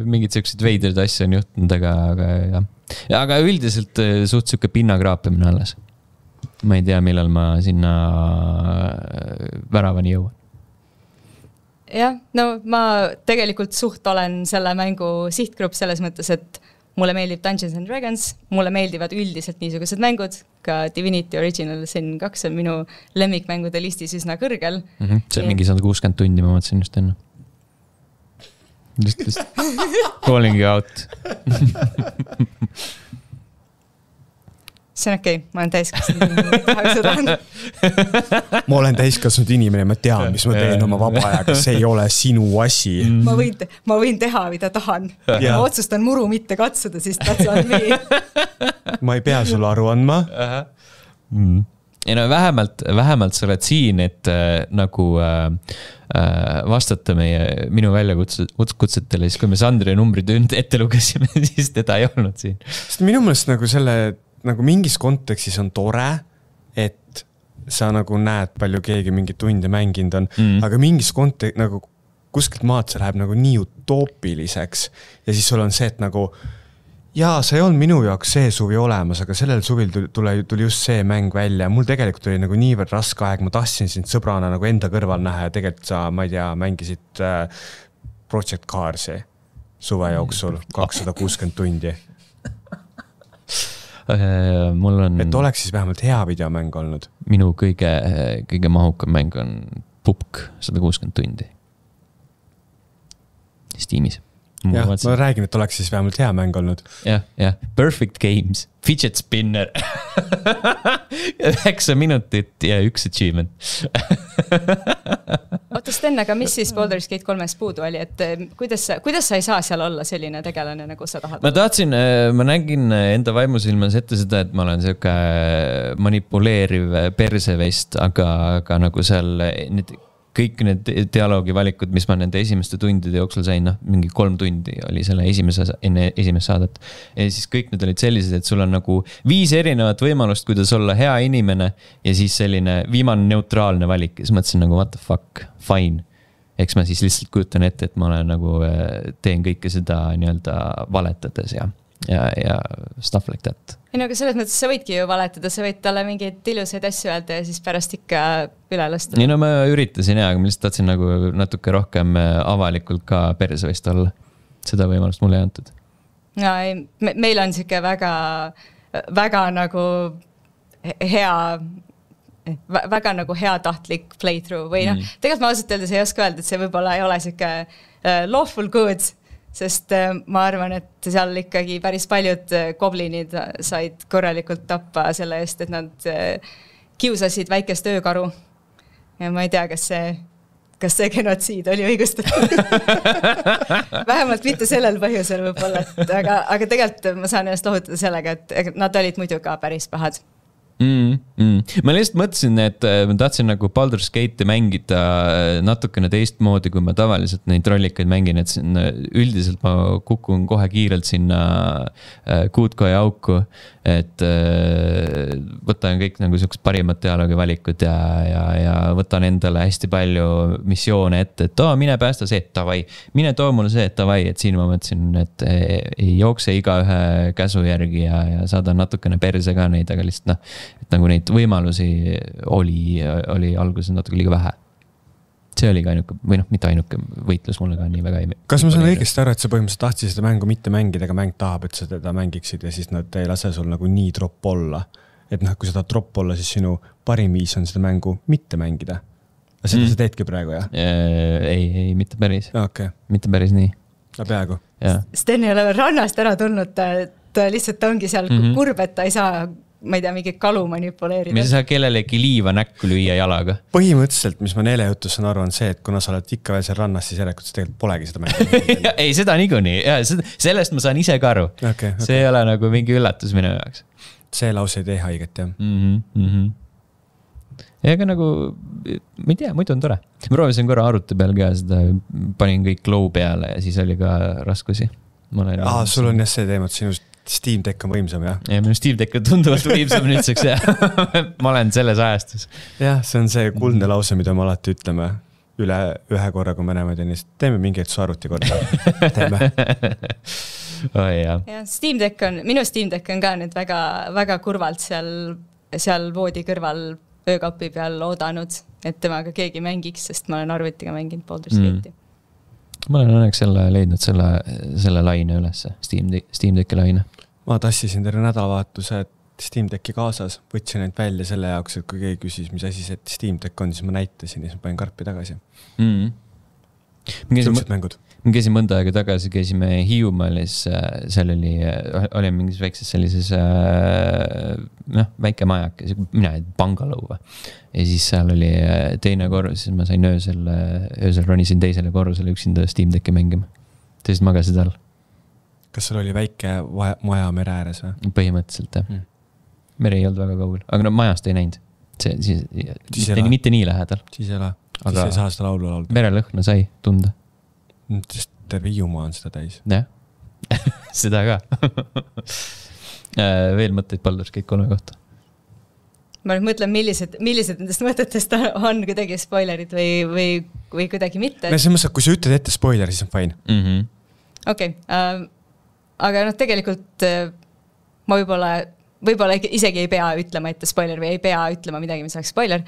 mingid siuksed veidrad asja on juhtunud, aga, aga jah. Aga üldiselt suht siuke pinnakraapimine alles. Ma ei tea, millal ma sinna väravani jõuan. Jah, no ma tegelikult suht olen selle mängu sihtgrupp selles mõttes, et mulle meeldib Dungeons and Dragons, mulle meeldivad üldiselt niisugused mängud, ka Divinity Original Sin kaks on minu lemmikmängude listis üsna kõrgel. Mm-hmm. See on mingi sada kuuskümmend tundi, ma mõtlesin just enne. Just, just calling you out. See on okei, okay. Ma olen täiskasvanud. Ma olen täiskasvanud inimene, ma tean, mis ma teen oma vaba ajaga, see ei ole sinu asi. Ma võin, te, ma võin teha, mida tahan. Ma otsustan muru mitte katsuda, siis that's on me. Ma ei pea sulle aru andma. Mm. Ja no vähemalt, vähemalt sa oled siin, et äh, nagu äh, vastata meie, minu väljakutsetele, siis kui me Sandri numbrid ette lugesime, siis teda ei olnud siin. Sest minu mõelest nagu selle nagu mingis kontekstis on tore, et sa nagu näed, palju keegi mingi tunde mänginud on, mm. aga mingis kontekstis nagu kuskilt maad see läheb nagu nii utoopiliseks ja siis sul on see, et nagu jaa, sa ei olnud minu jaoks see suvi olemas, aga sellel suvil tuli, tuli just see mäng välja. Mul tegelikult oli nagu niivõrd raske aeg, ma tahtsin sind sõbrana nagu enda kõrval näha ja tegelikult sa, ma ei tea, mängisid äh, Project Carsi suve jooksul kakssada kuuskümmend tundi. Mul on... Et oleks siis vähemalt hea videomäng olnud. Minu kõige, kõige mahukam mäng on Pupk sada kuuskümmend tundi. Steamis. Jah, ma räägin, et oleks siis vähemalt hea mäng olnud. Jah, jah. Perfect Games. Fidget Spinner. üheksa minutit ja üks achievement. Oota, Sten, aga mis siis Baldur's Gate kolmes puudu oli, et kuidas sa, kuidas sa ei saa seal olla selline tegelane, nagu sa tahad? Ma tahtsin, ma nägin enda vaimusilmas ette seda, et ma olen selline manipuleeriv persevest, aga, aga nagu seal need, kõik need dialoogivalikud, mis ma nende esimeste tundide jooksul sain, noh, mingi kolm tundi oli selle esimese, enne esimest saadet. Ja siis kõik need olid sellised, et sul on nagu viis erinevat võimalust, kuidas olla hea inimene ja siis selline viimane neutraalne valik. Ja siis mõtlesin nagu, what the fuck, fine. Eks ma siis lihtsalt kujutan ette, et ma olen nagu, teen kõike seda nii-öelda valetades ja, ja, ja stuff like that. Ei, no, aga selles mõttes sa võidki ju valetada, sa võid talle mingeid ilusaid asju öelda ja siis pärast ikka üle lasta. Nii, no ma üritasin ja, aga ma lihtsalt tahtsin nagu natuke rohkem avalikult ka persevest olla. Seda võimalust mulle ei antud. No, ei, me, meil on siuke väga, väga nagu hea, väga nagu hea tahtlik playthrough või noh, mm. tegelikult ma ausalt öeldes ei oska öelda, et see võib-olla ei ole siuke lawful good, sest ma arvan, et seal ikkagi päris paljud goblinid said korralikult tappa selle eest, et nad kiusasid väikest öökaru. Ja ma ei tea, kas see, kas see genotsiid oli õigustatud. Vähemalt mitte sellel põhjusel võib-olla, et, aga, aga tegelikult ma saan ennast lohutada sellega, et nad olid muidu ka päris pahad. Mm, mm. Ma lihtsalt mõtlesin, et ma tahtsin nagu Baldur's Gate'i mängida natukene teistmoodi, kui ma tavaliselt neid rollikaid mängin, et siin, üldiselt ma kukun kohe kiirelt sinna kuutkoja auku, et võtan kõik nagu sellised parimad dialoogi valikud ja, ja, ja võtan endale hästi palju missioone ette, et too, mine päästa see, et tavai, mine too mulle see, et tavai, et siin ma mõtlesin, et ei jookse iga ühe käsu järgi ja, ja saadan natukene perse ka neid, aga lihtsalt noh, et nagu neid võimalusi oli, oli alguses natuke liiga vähe. See oli ka ainuke, või noh, mitte ainuke võitlus mulle ka nii väga ei... Kas ma saan õigesti aru, et sa põhimõtteliselt tahtsid seda mängu mitte mängida, aga mäng tahab, et sa teda mängiksid ja siis nad ei lase sul nagu nii drop olla? Et noh, kui sa tahad drop olla, siis sinu parim viis on seda mängu mitte mängida. Seda mm. sa teedki praegu, jah? Ei, ei, mitte päris. Okay. Mitte päris nii. No peaaegu. Sten ei ole rannast ära tulnud, ta, ta lihtsalt ongi seal mm-hmm. kurb, et ta ei saa... ma ei tea, mingi kalu manipuleerida. Mis sa kellelegi liiva näkku lüüa jalaga? Põhimõtteliselt, mis ma Neele jutus saan aru, on see, et kuna sa oled ikka veel seal rannas, siis järelikult sa tegelikult polegi seda mängu. Ei, seda niikuinii. Sellest ma saan ise ka aru. Okay, okay. See ei ole nagu mingi üllatus minu jaoks. See lause ei tee haiget, jah. Mm-hmm, mm-hmm. Ja aga nagu, ma ei tea, muidu on tore. Ma proovisin korra arvuti peal ka seda, panin kõik low peale ja siis oli ka raskusi. Aa, sul on jah see teema, et sinust Steam Deck on võimsam, jah? Ja, minu Steam Deck on tunduvalt võimsam nüüdseks, jah. Ma olen selles ajastus. Jah, see on see kuldne lause, mida me alati ütleme. üle ühe korra, kui me näeme tennist. Teeme mingeid su arvuti korda. Teeme. Oh, jah. Ja, Steam Deck on, minu Steam Deck on ka nüüd väga, väga kurvalt seal, seal voodi kõrval öökapi peal oodanud, et temaga keegi mängiks, sest ma olen arvutiga mänginud Baldur's Gate'i. Mm. Ma olen õnneks selle leidnud selle, selle laine üles, Steam, Steam Decki laine. Ma tassisin terve nädalavahetuse Steam Decki kaasas, võtsin neid välja selle jaoks, et kui keegi küsis, mis asi see Steam Deck on, siis ma näitasin ja siis ma panin karpi tagasi. Mm. Tõused mängud. Me käisime mõnda aega tagasi, käisime Hiiumaalis, seal oli, oli mingis väikses sellises noh, väike majak, mina ei pangalõuva. Ja siis seal oli teine korrus, siis ma sain öösel, öösel ronisin teisele korrusele üksinda Steam Decki mängima. Teised magasid all. Kas seal oli väike maja mere ääres või? Põhimõtteliselt, jah. Hmm. Mere ei olnud väga kaugel, aga no majast ei näinud. See, siis, siis mitte, mitte nii lähedal. Siis ei ole. Aga siis ei saa seda laulu laulda. Merelõhna sai tunda. Sest terve Hiiumaa on seda täis. Jah, seda ka. Veel mõtteid Baldur's Gate kolme kohta? Ma nüüd mõtlen, millised, millised nendest mõtetest on kuidagi spoilerid või, või, või kuidagi mitte. No see mõttes, kui sa ütled ette spoiler, siis on fine. Mm-hmm. Okei, okay, äh, aga noh, tegelikult äh, ma võib-olla, võib-olla isegi ei pea ütlema ette spoiler või ei pea ütlema midagi, mis oleks spoiler.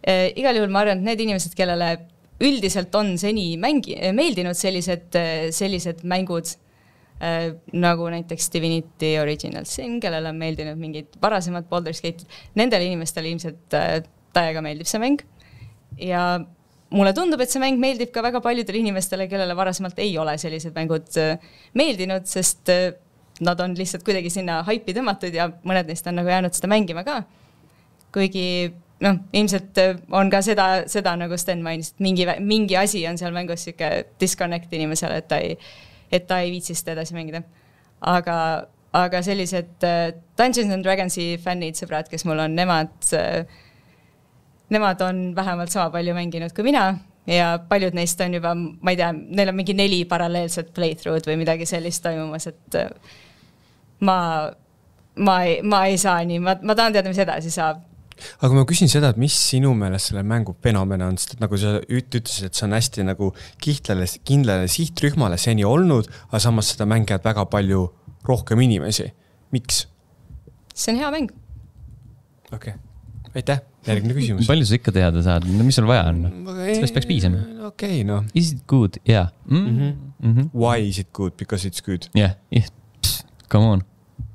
Äh, igal juhul ma arvan, et need inimesed, kellele üldiselt on seni mängi, meeldinud sellised, sellised mängud äh, nagu näiteks Divinity Original Sin, kellele on meeldinud mingid varasemad Baldur's Gate. Nendele inimestele ilmselt äh, täiega meeldib see mäng. Ja mulle tundub, et see mäng meeldib ka väga paljudele inimestele, kellele varasemalt ei ole sellised mängud äh, meeldinud, sest äh, nad on lihtsalt kuidagi sinna haipi tõmmatud ja mõned neist on nagu jäänud seda mängima ka. Kuigi noh, ilmselt on ka seda, seda nagu Sten mainis, et mingi, mingi asi on seal mängus siuke disconnect inimesele, et ta ei, et ta ei viitsi seda edasi mängida. Aga, aga sellised Dungeons and Dragonsi fännid, sõbrad, kes mul on, nemad, nemad on vähemalt sama palju mänginud kui mina ja paljud neist on juba, ma ei tea, neil on mingi neli paralleelset playthrough'd või midagi sellist toimumas, et ma, ma, ei, ma ei saa nii, ma, ma tahan teada, mis edasi saab. Aga ma küsin seda, et mis sinu meelest selle mängu fenomen on, sest nagu sa ütlesid, et see on hästi nagu kihtlale, kindlale sihtrühmale seni olnud, aga samas seda mängivad väga palju rohkem inimesi. Miks? See on hea mäng. Okei, okay. Aitäh. Järgmine küsimus. Palju sa ikka teada saad? Mis sul vaja on? Sellest peaks piisama. Okei, okay, no. Is it good? Yeah. Mm? Mm-hmm. Mm-hmm. Why is it good? Because it's good. Yeah, yeah. Psst, come on.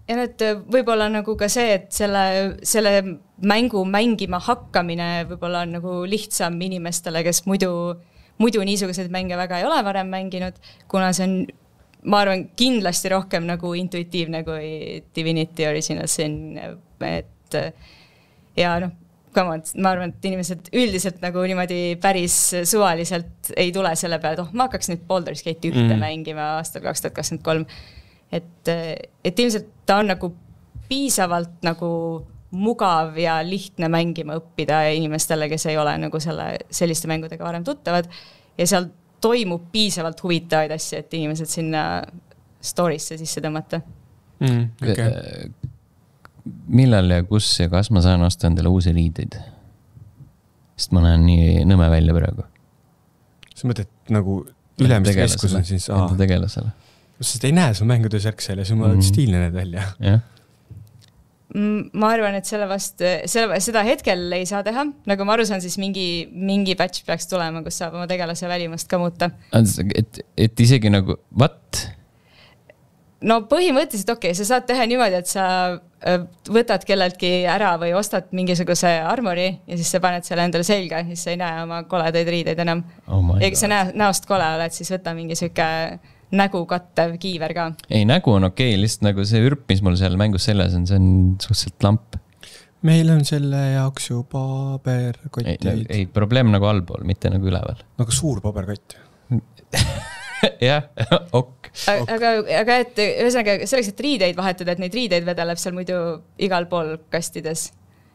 Ja nüüd võib-olla nagu ka see, et selle, selle mängu mängima hakkamine võib-olla on nagu lihtsam inimestele, kes muidu, muidu niisuguseid mänge väga ei ole varem mänginud, kuna see on, ma arvan, kindlasti rohkem nagu intuitiivne kui Divinity Original Sin, et ja noh, come on, ma arvan, et inimesed üldiselt nagu niimoodi päris suvaliselt ei tule selle peale, et oh, ma hakkaks nüüd Baldur's Gate ühte mm. mängima aastal kaks tuhat kakskümmend kolm. Et, et ilmselt ta on nagu piisavalt nagu mugav ja lihtne mängima õppida inimestele, kes ei ole nagu selle, selliste mängudega varem tuttavad ja seal toimub piisavalt huvitavaid asju, et inimesed sinna story'sse sisse tõmmata. Mm, okay. Millal ja kus ja kas ma saan osta endale uusi riideid? Sest ma näen nii nõme välja praegu. Sa mõtled nagu ülemis keskus on siis enda tegelasele. Sest ei näe su mängudes järgsel ja sul mm. oled stiilne need välja. Yeah. Ma arvan, et selle vast, selle, seda hetkel ei saa teha. Nagu ma aru saan, siis mingi, mingi patch peaks tulema, kus saab oma tegelase välimust ka muuta. Et, et isegi nagu, what? No põhimõtteliselt okei, okay, sa saad teha niimoodi, et sa võtad kelleltki ära või ostad mingisuguse armori ja siis sa paned selle endale selga, siis sa ei näe oma koledaid riideid enam. Oh ja kui sa näe, näost kole oled, siis võta mingi süke nägu kattev kiiver ka. Ei, nägu on okei, okay, lihtsalt nagu see ürp, mis mul seal mängus selles on, see on suhteliselt lamp. Meil on selle jaoks ju paberkottid. Ei, ei, probleem nagu allpool, mitte nagu üleval. Nagu suur paberkott. Jah, ok. Aga, aga et ühesõnaga selleks, et riideid vahetada, et neid riideid vedeleb seal muidu igal pool kastides.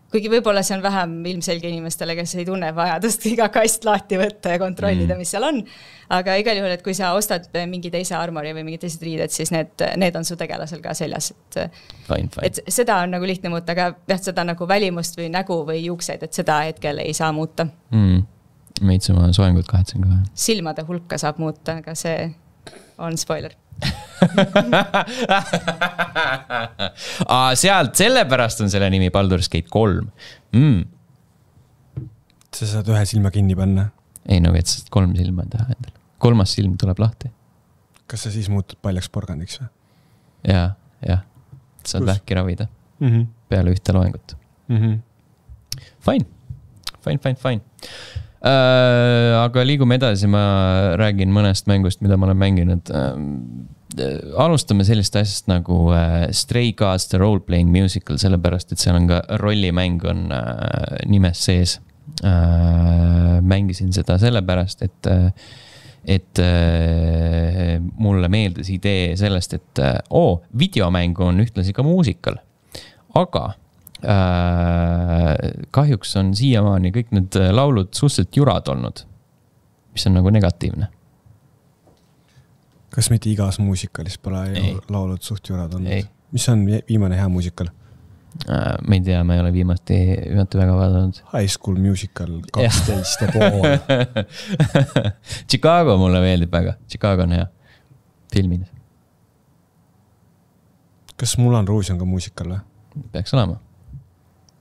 Kuigi võib-olla see on vähem ilmselge inimestele, kes ei tunne vajadust iga kast lahti võtta ja kontrollida, mm. mis seal on. Aga igal juhul, et kui sa ostad mingi teise armori või mingi teised riided, siis need, need on su tegelasel ka seljas. Et, fine, fine. et seda on nagu lihtne muuta, aga jah, seda nagu välimust või nägu või juukseid, et seda hetkel ei saa muuta. Mm. meits oma soengut kahetsen ka. Silmade hulka saab muuta, aga see on spoiler. Aa, sealt, sellepärast on selle nimi Baldur's Gate kolm. Mm. Sa saad ühe silma kinni panna. Ei, no et sa kolm silma teha endale. Kolmas silm tuleb lahti. Kas sa siis muutud paljaks porgandiks või? Jaa, jah. Saad Kus? Vähki ravida mm -hmm. peale ühte loengut. Mm -hmm. Fine, fine, fine, fine. Äh, aga liigume edasi, ma räägin mõnest mängust, mida ma olen mänginud. Äh, alustame sellist asjast nagu äh, Stray Gods The Role-Playing Musical, sellepärast, et seal on ka rollimäng on äh, nimes sees. Äh, mängisin seda sellepärast, et äh, et äh, mulle meeldis idee sellest, et äh, oo, videomäng on ühtlasi ka muusikal. Aga äh, kahjuks on siiamaani kõik need laulud suhteliselt jurad olnud, mis on nagu negatiivne. Kas mitte igas muusikalis pole ei. laulud suht jurad olnud? Ei. Mis on viimane hea muusikal? Äh, ma ei tea, ma ei ole viimati, viimati väga vaadanud. High School Musical kaksteist ja pool. Chicago mulle meeldib väga. Chicago on hea. Filmid. Kas Moulin Rouge on ka muusikal või? Peaks olema.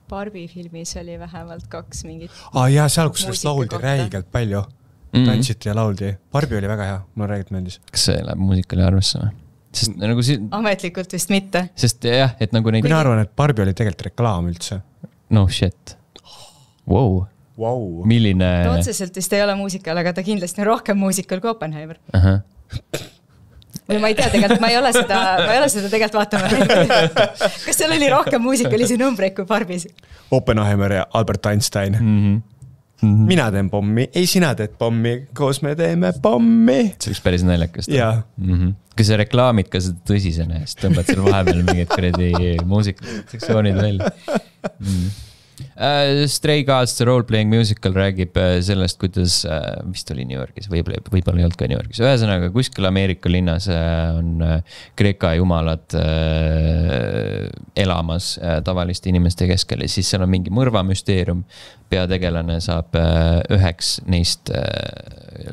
Barbie filmis oli vähemalt kaks mingit. Ah, jah, seal, kus sellest lauldi räigelt palju. Mm -hmm. Tantsiti ja lauldi. Barbie oli väga hea. Mulle räägit meeldis. Kas see läheb muusikali arvesse või? Sest nagu si- ametlikult vist mitte. Sest jah, et nagu neid... Mina arvan, et Barbie oli tegelikult reklaam üldse. No shit. Wow. Wow. Milline... Ta otseselt vist ei ole muusikal, aga ta kindlasti on rohkem muusikal kui Oppenheimer. Aha. Või ma ei tea, tegelikult ma ei ole seda, ma ei ole seda tegelikult vaatama. Kas seal oli rohkem muusikalisi numbreid kui Barbies? Oppenheimer ja Albert Einstein. Mm-hmm. Mm-hmm. Mina teen pommi, ei sina teed pommi, koos me teeme pommi. See oleks päris naljakast. Jaa. Mm-hmm. Kui sa reklaamid ka seda tõsisena, siis tõmbad seal vahepeal mingid kredi muusikasektsioonid välja. Mm. Uh, Stray Gods The Role-Playing Musical räägib sellest, kuidas uh, vist oli New Yorgis, võib-olla, võib-olla ei olnud ka New Yorgis. Ühesõnaga, kuskil Ameerika linnas uh, on uh, Kreeka jumalad uh, elamas uh, tavaliste inimeste keskel ja siis seal on mingi mõrvamüsteerium. Peategelane saab uh, üheks neist uh,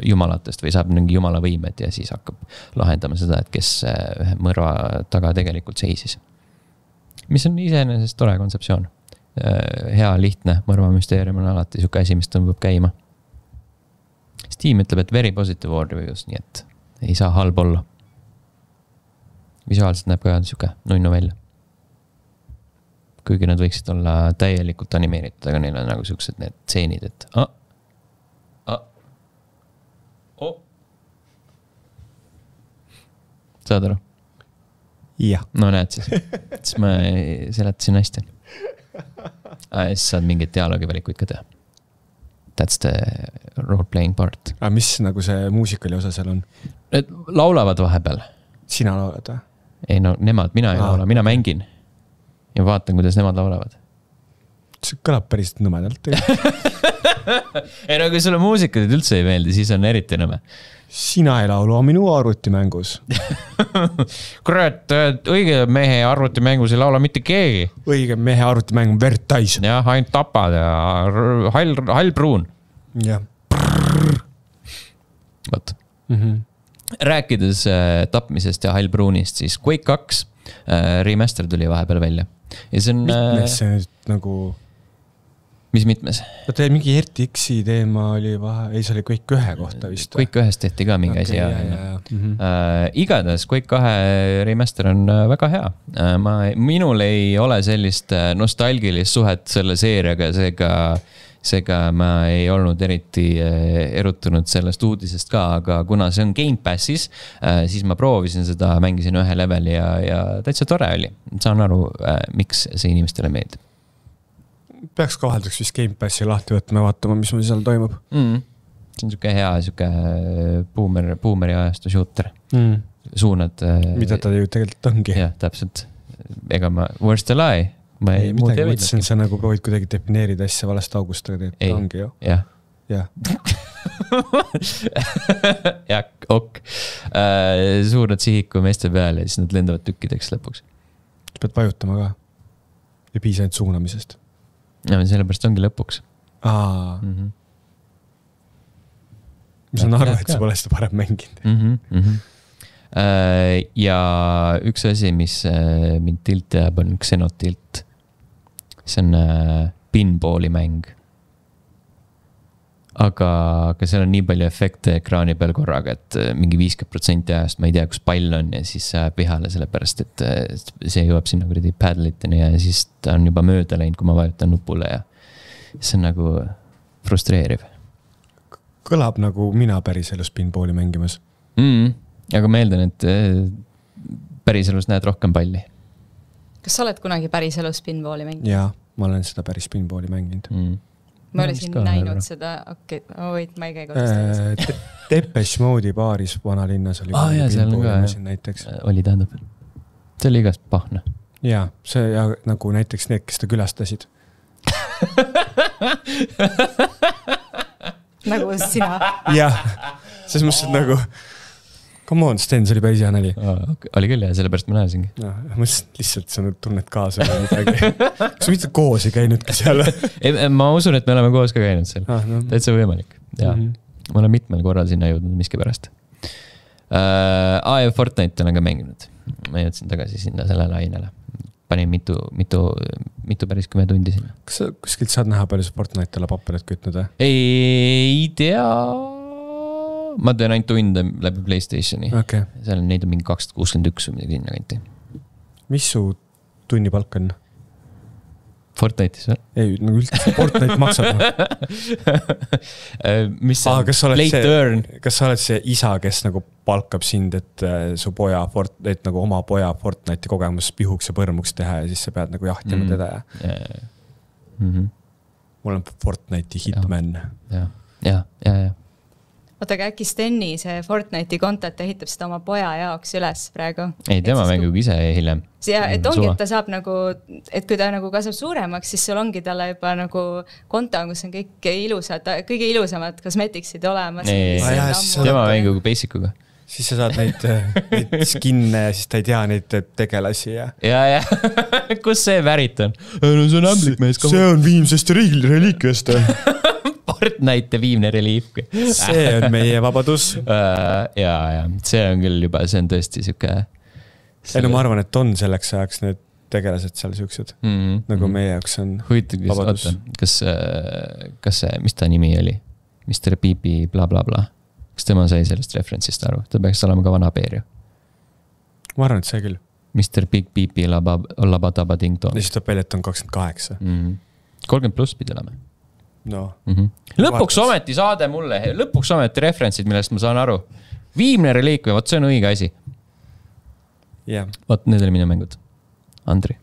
jumalatest või saab mingi jumala võimed ja siis hakkab lahendama seda, et kes uh, ühe mõrva taga tegelikult seisis. Mis on iseenesest tore kontseptsioon. Hea, lihtne, mõrvamüsteerium on alati siuke asi, mis tõmbab käima. Steam ütleb, et very positive all reviews, nii et ei saa halb olla. Visuaalselt näeb ka siuke nunnu välja. Kuigi nad võiksid olla täielikult animeeritud, aga neil on nagu siuksed need tseenid, et ah, ah, oh. Saad aru? Jah. No näed siis. Siis ma seletasin hästi. Ah, siis saad mingeid dialoogivalikuid ka teha. That's the role-playing part. Aga mis nagu see muusikali osa seal on? Need laulavad vahepeal. Sina laulad või? Ei no nemad, mina ei ah. laula, mina mängin. Ja vaatan, kuidas nemad laulavad. See kõlab päris nõmedalt. Ei no kui sulle muusikad üldse ei meeldi, siis on eriti nõme. Sina ei laulu minu arvutimängus. Kurat, õige mehe arvutimängus ei laula mitte keegi. Õige mehe arvutimäng on verd täis. Jah, ainult tapad ja hall, hall pruun. Jah. Võt. Mm-hmm. Rääkides äh, tapmisest ja hall pruunist, siis Quake kaks äh, remaster tuli vahepeal välja. Ja see on... Mitmes see nüüd nagu... Mis mitmes? Vaata, mingi R T X-i teema oli vahe, ei, see oli Quake ühe kohta vist. Quake ühest tehti ka mingi okay, asi. Ja, ja, ja. Mm-hmm. Uh, igatahes Quake kahe remaster on väga hea. Uh, ma, minul ei ole sellist nostalgilist suhet selle seeriaga, seega, seega ma ei olnud eriti erutunud sellest uudisest ka, aga kuna see on Game Passis, uh, siis ma proovisin seda, mängisin ühe leveli ja, ja täitsa tore oli. Saan aru, uh, miks see inimestele meeldib. Peaks kohaldaks vist Game Passi lahti võtma ja vaatama, mis meil seal toimub. Mm. See on siuke hea, siuke boomer, boomeri ajastu shooter. Mm. Suunad... Mida ta ju tegelikult ongi. Jah, täpselt. Ega ma... Where's the lie? Ma ei, ei midagi mõtlesin, sa nagu proovid kuidagi defineerida asja valest august, aga tegelikult ei, ongi ju. Jah. Jah. jah, ok. Uh, suunad sihiku meeste peale ja siis nad lendavad tükkideks lõpuks. Pead vajutama ka. Ja piisa ainult suunamisest. Ja sellepärast ongi lõpuks. Aa. Mm-hmm. ma saan aru, et sa pole seda parem mänginud. Mm-hmm, mm-hmm. Ja üks asi, mis mind tilt jääb, on Xenotilt. See on pinballi mäng. Aga, aga seal on nii palju efekte ekraani peal korraga, et mingi viiskümmend protsenti ajast ma ei tea, kus pall on ja siis sajab vihale sellepärast, et see jõuab sinna kuradi paddliteni ja siis ta on juba mööda läinud, kui ma vajutan nupule ja see on nagu frustreeriv. Kõlab nagu mina päriselus pinballi mängimas. Mm, aga ma eeldan, et päriselus näed rohkem palli. Kas sa oled kunagi päriselus pinballi mänginud? Jaa, ma olen seda päris pinballi mänginud. Mm. Ma olen siin näinud seda, okei, okay. oh, wait, ma ei käi kodust. Depeche Mode'i baaris vanalinnas oli ah, jah, pinballi näiteks. Oli tähendab. See oli igast pahne. Jaa, see ja nagu näiteks need, kes ta külastasid. Nagu sina. Jah, selles mõttes, et nagu come on, Sten, see oli päris hea nali. Oli küll ja sellepärast ma näesingi. No, ma lihtsalt sa tunned kaasa või midagi. Kas mitte koos ei käinudki seal? Ma usun, et me oleme koos ka käinud seal. Ah, no. Täitsa võimalik. Ja. Mm-hmm. Ma olen mitmel korral sinna jõudnud miski pärast. Uh, A ja Fortnite olen ka mänginud. Ma jõudsin tagasi sinna selle lainele. Panin mitu, mitu, mitu päris kümme tundi sinna. Kas sa kuskilt saad näha palju Fortnite'le paperit kütnud? Ei tea... Ma teen ainult tunde läbi PlayStationi. Okay. Seal on neid on mingi kakssada kuuskümmend üks või midagi sinna kanti. Mis su tunni palk on? Fortnite'is või? Ei, nagu üldse Fortnite maksab. Mis see on? Kas sa oled Late see, earn? Kas sa oled see isa, kes nagu palkab sind, et su poja, et nagu oma poja Fortnite'i kogemus pihuks ja põrmuks teha ja siis sa pead nagu jahtima mm. teda ja? Yeah. Mm-hmm. Mul on Fortnite'i hitman. Ja, ja, ja, ja. Oota, aga äkki Steni see Fortnite'i kontot ehitab seda oma poja jaoks üles praegu? Ei, tema mängib ise hiljem. Ja, et ongi, et ta saab nagu, et kui ta nagu kasvab suuremaks, siis sul ongi talle juba nagu konto, kus on kõik ilusad, kõige ilusamad kosmetiksid olemas. Ei, ah, jah, tema mängib Basic'uga. Siis sa saad neid, neid skinne ja siis ta ei tea neid tegelasi. Ja, ja, ja. Kus see värit on? No, see on ämblik mees. See on viimsest reliikviast. Fortnite viimne reliif. See on meie vabadus. Uh, ja, ja, see on küll juba, see on tõesti siuke... Ei, no ma arvan, et on selleks ajaks need tegelased seal siuksed. Mm-hmm. Nagu meie jaoks on Huvitav, vabadus. Oota, kas, kas see, mis ta nimi oli? mister Piipi bla bla bla. Kas tema sai sellest referentsist aru? Ta peaks olema ka vana peer ju. Ma arvan, et see küll. mister Big Piipi labadaba ding tong. Ja siis tuleb välja, et on kakskümmend kaheksa. Mm-hmm. kolmkümmend pluss pidi olema. No. Mm-hmm. Lõpuks ometi saade mulle, lõpuks ometi referentsid, millest ma saan aru. Viimne reliik või, võt see on õige asi. Yeah. Võt, need oli minu mängud. Andri,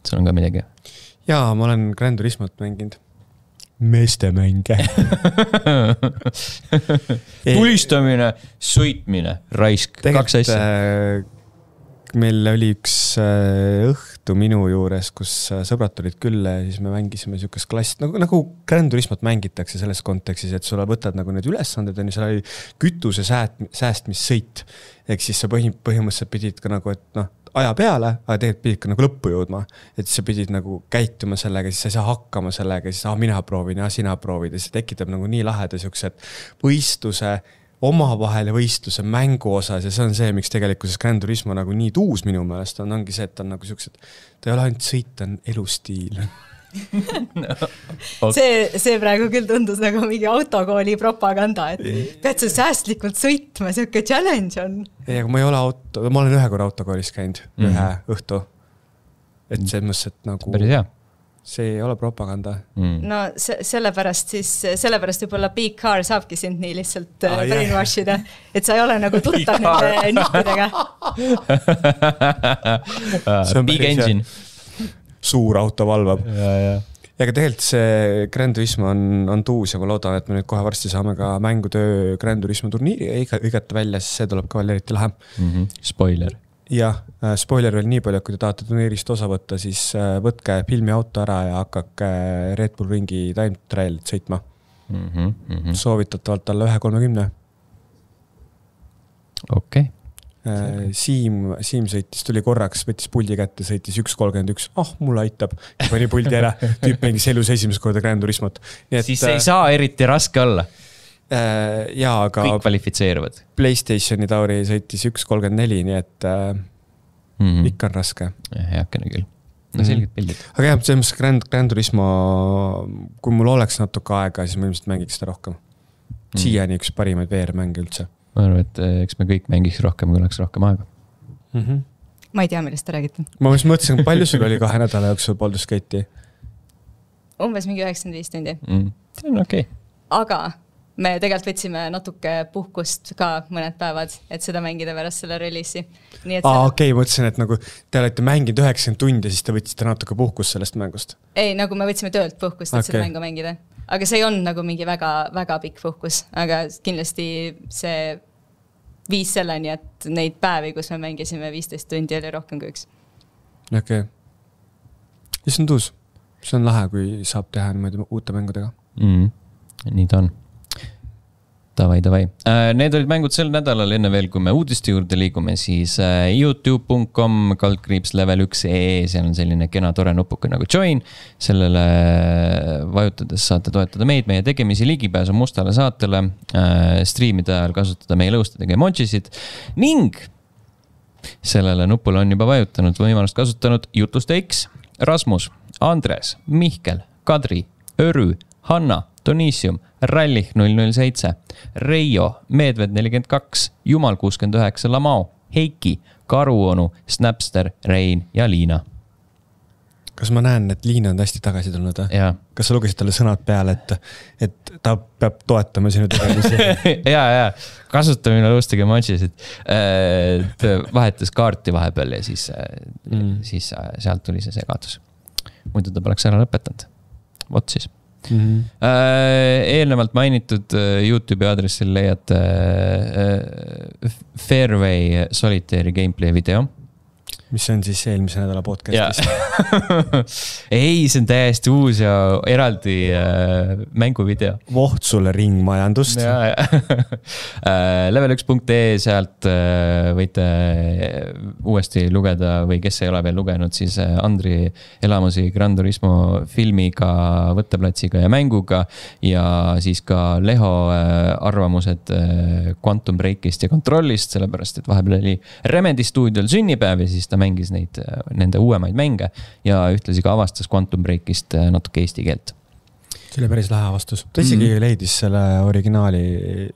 sul on ka midagi? Jaa, ma olen Gran Turismot mänginud. Meeste mänge. Tulistamine, sõitmine, raisk, kaks asja. Meil oli üks õhtu minu juures, kus sõbrad tulid külla ja siis me mängisime siukest klass, nagu, nagu Gran Turismot mängitakse selles kontekstis, et sulle võtad nagu need ülesanded, on ju, seal oli kütuse säästmissõit. Ehk siis sa põhimõtteliselt pidid ka nagu, et noh, aja peale, aga tegelikult pidid ka nagu lõppu jõudma. Et sa pidid nagu käituma sellega, siis sa ei saa hakkama sellega, siis ah, mina proovin ja sina proovid ja see tekitab nagu nii laheda siuksed võistluse omavahel ja võistluse mängu osas ja see on see, miks tegelikkuses Gran Turismo nagu nii tuus minu meelest on, ongi see, et on nagu siuksed, ta ei ole ainult sõit, ta on elustiil. no, okay. see, see praegu küll tundus nagu mingi autokooli propaganda, et pead sa säästlikult sõitma, siuke challenge on. Ei, aga ma ei ole auto, ma olen ühe korra autokoolis käinud, mm. ühe õhtu. Et see mõttes, et nagu... Päris hea. See ei ole propaganda. Mm. No se- sellepärast siis, sellepärast võib-olla Big Car saabki sind nii lihtsalt ah, brainwashida, et sa ei ole nagu tuttav nende nippidega. Big engine. Suur auto valvab. Ja, ja. Ja aga tegelikult see Gran Turismo on, on tuus ja ma loodan, et me nüüd kohe varsti saame ka mängutöö Gran Turismo turniiri õigata välja, siis see tuleb ka veel eriti lähe. Mm-hmm. Spoiler. Jah, spoiler veel nii palju, kui te tahate turniirist osa võtta, siis võtke filmi auto ära ja hakkake Red Bull Ringi time trialit sõitma. Mm-hmm, mm-hmm. Soovitatavalt alla ühe kolmekümne. Okei. Okay. Siim, Siim sõitis, tuli korraks, võttis puldi kätte, sõitis üks kolmkümmend üks. Ah, mulle aitab. Pani puldi ära. Tüüp mängis elus esimest korda Gran Turismot. Nii et, siis ei saa eriti raske olla. äh, jaa, aga kõik kvalifitseeruvad. PlayStationi Tauri sõitis üks kolmkümmend neli, nii et äh, mm -hmm. ikka on raske. Heakene küll. No selged pildid. Aga jah, selles mõttes Grand, Grand Turismo, kui mul oleks natuke aega, siis ma ilmselt mängiks seda rohkem. Siiani üks parimaid V R-mänge üldse. Ma arvan, et eks me kõik mängiks rohkem, kui oleks rohkem aega. Mm -hmm. Ma ei tea, millest te räägite. Ma mõtlesin, palju sul oli kahe nädala jooksul Baldur's Gate'i? Umbes mingi üheksakümmend viis tundi. Mm. See on okei. Okay. Aga me tegelikult võtsime natuke puhkust ka mõned päevad, et seda mängida pärast selle release'i. Aa, okei, okay, mõtlesin, et nagu te olete mänginud üheksakümmend tundi, siis te võtsite natuke puhkust sellest mängust. Ei, nagu me võtsime töölt puhkust, et okay. seda mängu mängida. Aga see ei olnud nagu mingi väga, väga pikk puhkus, aga kindlasti see viis selleni, et neid päevi, kus me mängisime viisteist tundi, oli rohkem kui üks. Okei. Okay. Ja see on tuus. See on lahe, kui saab teha niimoodi uute mängudega. Mm, nii ta on. Davai, davai. Need olid mängud sel nädalal, enne veel, kui me uudiste juurde liigume, siis youtube punkt com kaldkriips level üks ee, seal on selline kena tore nupuke nagu join. Sellele vajutades saate toetada meid, meie tegemisi ligipääsu mustale saatele, striimide ajal kasutada meie lõustadega emojisid ning sellele nupule on juba vajutanud võimalust kasutanud Jutuste X, Rasmus, Andres, Mihkel, Kadri, Örü, Hanna, Donisium, Rallih null null seitse, Reijo, Meedved nelikümmend kaks, Jumal kuuskümmend üheksa, Lamao, Heiki, Karuonu, Snapster, Rein ja Liina. Kas ma näen, et Liina on hästi tagasi tulnud? Ja. Kas sa lugesid talle sõnad peale, et, et ta peab toetama sinu tegemisi? ja, ja, kasutamine lõustage emojisid. Vahetas kaarti vahepeal ja siis, mm. siis sealt tuli see segadus. Muidu ta poleks ära lõpetanud. Vot siis. Mm-hmm. Eelnevalt mainitud YouTube'i aadressil leiate Fairway Solitaire gameplay video. Mis on siis eelmise nädala podcastis? Ei, see on täiesti uus ja eraldi äh, mänguvideo. Voht sulle ringmajandust. Ja, ja. level üks punkt ee, sealt äh, võite uuesti lugeda või kes ei ole veel lugenud, siis Andri elamusi Gran Turismo filmiga, võtteplatsiga ja mänguga ja siis ka Leho äh, arvamused äh, Quantum Breakist ja kontrollist, sellepärast et vahepeal oli Remedy stuudiol sünnipäev ja siis ta mängis neid, nende uuemaid mänge ja ühtlasi ka avastas Quantum Breakist natuke eesti keelt. See oli päris lahe avastus. Ta isegi mm-hmm. leidis selle originaali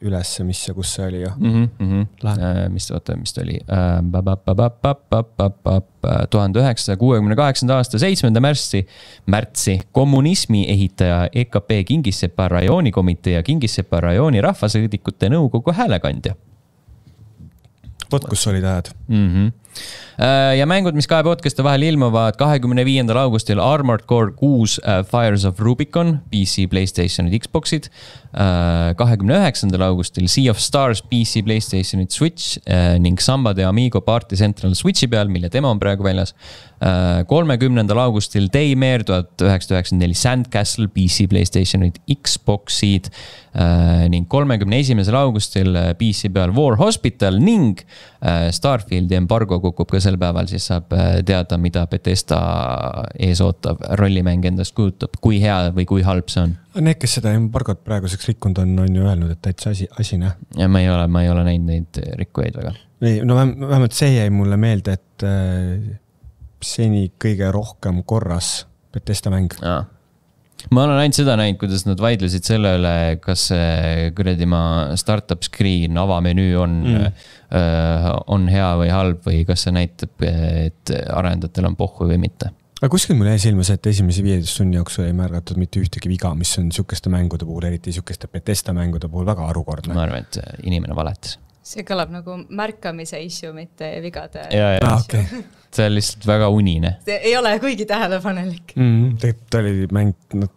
üles, mis ja kus see oli ju. Mm-hmm. Äh, mis, oota, mis ta oli? tuhande üheksasaja kuuekümne kaheksanda aasta seitsmenda märtsi, märtsi kommunismi ehitaja E K P Kingissepa rajoonikomitee ja Kingissepa rajooni rahvasõidikute nõukogu häälekandja. Vot, kus olid ajad. Mm-hmm. Ja mängud, mis kahe podcast'e vahel ilmuvad kahekümne viiendal augustil Armored Core kuus Fires of Rubicon, P C, PlayStationid, Xboxid. kahekümne üheksandal augustil Sea of Stars, P C, PlayStationid, Switch ning Samba de Amigo Party Central Switchi peal, mille demo on praegu väljas. kolmekümnendal augustil Daymare tuhat üheksasada üheksakümmend neli Sandcastle, P C, PlayStationid, Xboxid ning kolmekümne esimesel augustil P C peal War Hospital ning Starfieldi embargo kukub ka sel päeval, siis saab teada, mida Bethesda ees ootav rollimäng endast kujutab, kui hea või kui halb see on. Need, kes seda embargot praeguseks rikkunud on, on ju öelnud, et täitsa asi, asine. Ja ma ei ole, ma ei ole näinud neid rikkujaid väga. Ei, no vähemalt see jäi mulle meelde, et seni kõige rohkem korras Bethesda mäng. Aa. Ma olen ainult seda näinud, kuidas nad vaidlesid selle üle, kas kuradi ma startup screen, avamenüü on, mm. äh, on hea või halb või kas see näitab, et arendajatel on pohhu või mitte. Aga kuskil mul jäi silmas, et esimese viieteist tunni jooksul ei märgatud mitte ühtegi viga, mis on sükeste mängude puhul, eriti sükeste Bethesda mängude puhul väga arukordne. Ma arvan, et inimene valetas. See kõlab nagu märkamise issue, mitte vigade. Ja, ja. Ah, okay. See on lihtsalt väga unine. See ei ole kuigi tähelepanelik. Mm, tegelikult oli mäng, no,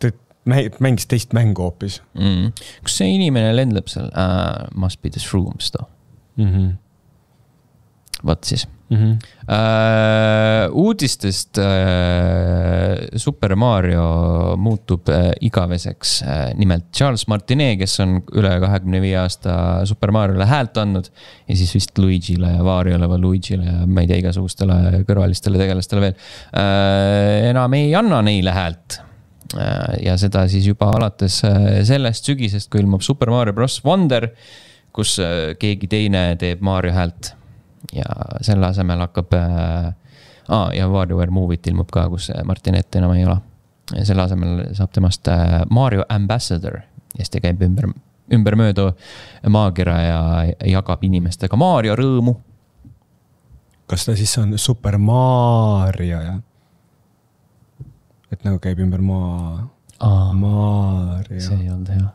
mängis teist mängu hoopis. Mm. Kus see inimene lendleb seal? Uh, must be the shrooms too. Mm-hmm. Võt siis. Mm-hmm. Uh, uudistest uh, Super Mario muutub uh, igaveseks. Uh, nimelt Charles Martinet, kes on üle kahekümne viie aasta Super Mariole häält andnud ja siis vist Luigile ja Variole või Luigile ja ma ei tea igasugustele kõrvalistele tegelastele veel. Uh, enam ei anna neile häält. ja seda siis juba alates sellest sügisest, kui ilmub Super Mario Bros. Wonder, kus keegi teine teeb Mario häält ja selle asemel hakkab ah, ja WarioWare Movie't ilmub ka, kus Martinet enam ei ole. Ja selle asemel saab temast Mario Ambassador ja siis ta käib ümber, ümber möödu maakera ja jagab inimestega Mario rõõmu. Kas ta siis on Super Mario, jah? Et nagu käib ümber maa... Aa, Mario. See ei olnud hea.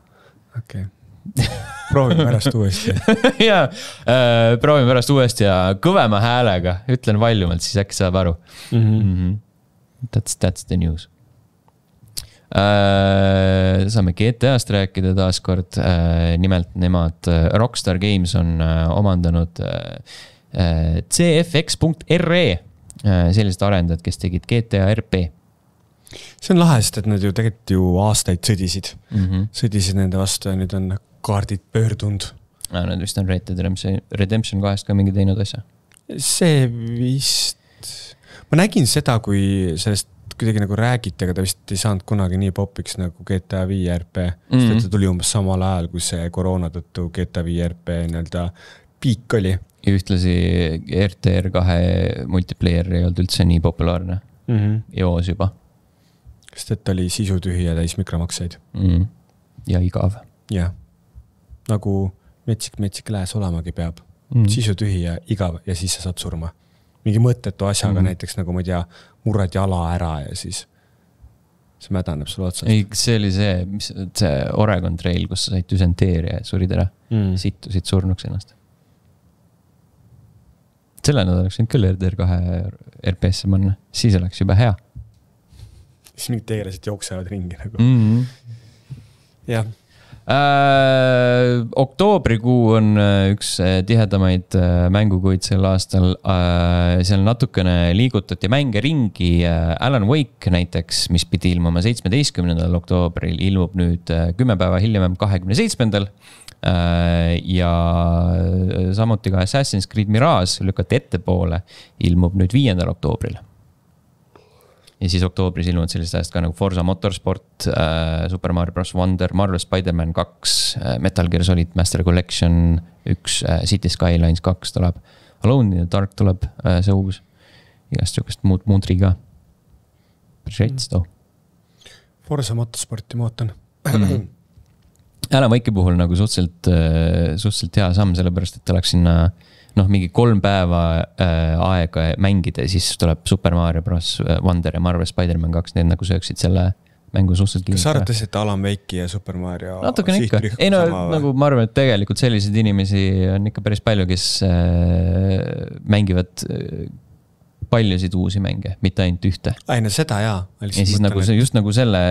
Okei. Okay. Proovime pärast uuesti. ja, äh, proovime pärast uuesti ja kõvema häälega. Ütlen valjumalt, siis äkki saab aru. Mm-hmm. Mm-hmm. That's, that's the news. Äh, saame G T A-st rääkida taas kord. Äh, nimelt nemad Rockstar Games on äh, omandanud äh, C F X punkt R E äh, sellised arendajad, kes tegid G T A R P. See on lahe, sest et nad ju tegelikult ju aastaid sõdisid. Mm-hmm. Sõdisid nende vastu ja nüüd on kaardid pöördunud. Ja, nad vist on Red Dead Redemption kahest ka mingi teinud asja. See vist... Ma nägin seda, kui sellest kuidagi nagu räägiti, aga ta vist ei saanud kunagi nii popiks nagu G T A viis R P. Mm-hmm. Sest et ta tuli umbes samal ajal, kui see koroona tõttu G T A viis R P nii-öelda piik oli. Ja ühtlasi R T R kahe multiplayer ei olnud üldse nii populaarne. Mm-hmm. Joos juba. Sest et oli sisu tühi ja täis mikromakseid. Mm. Ja igav. Jah. Nagu metsik-metsik lääs olamagi peab. Mm. Sisu tühi ja igav ja siis sa saad surma. Mingi mõttetu asjaga mm. näiteks nagu ma ei tea, murrad jala ära ja siis see mädaneb sulle otsast. Ei, see oli see, mis, see Oregon Trail, kus sa said düsenteeria ja surid ära. Mm. Sittusid surnuks ennast. Selle nad oleks küll R T R kahe R P S-e manna. Siis oleks juba hea. Siis mingid tegelased jooksevad ringi nagu. Mm-hmm. Jah. Äh, oktoobrikuu on üks tihedamaid mängukuid sel aastal. Äh, seal natukene liigutati mänge ringi. Alan Wake näiteks, mis pidi ilmuma seitsmeteistkümnendal oktoobril, ilmub nüüd kümme päeva hiljem kahekümne seitsmendal. Äh, ja samuti ka Assassin's Creed Mirage lükati ette poole, ilmub nüüd viiendal oktoobril. Ja siis oktoobris ilmunud sellised ajast ka nagu Forza Motorsport, äh, Super Mario Bros. Wonder, Marvel Spider-Man kaks, äh, Metal Gear Solid Master Collection üks, äh, City Skylines kaks tuleb, Alone in the Dark tuleb, äh, see uus, igast sihukest muud muudri ka. Päris reits too. Forza Motorsporti ma ootan. Mm. Alan Wake'i puhul nagu suhteliselt, äh, suhteliselt hea samm, sellepärast, et oleks sinna noh, mingi kolm päeva äh, aega mängida ja siis tuleb Super Mario Bros. Wonder ja Marvel Spider-Man kaks, need nagu sööksid selle mängu suhteliselt kiirelt. Kas sa arvates, et Alan Wake'i ja Super Mario natukene ikka. Ei no, nagu ma arvan, et tegelikult selliseid inimesi on ikka päris palju, kes äh, mängivad äh, paljusid uusi mänge, mitte ainult ühte. Ai, no seda jaa. Ja siis nagu, et... just nagu selle,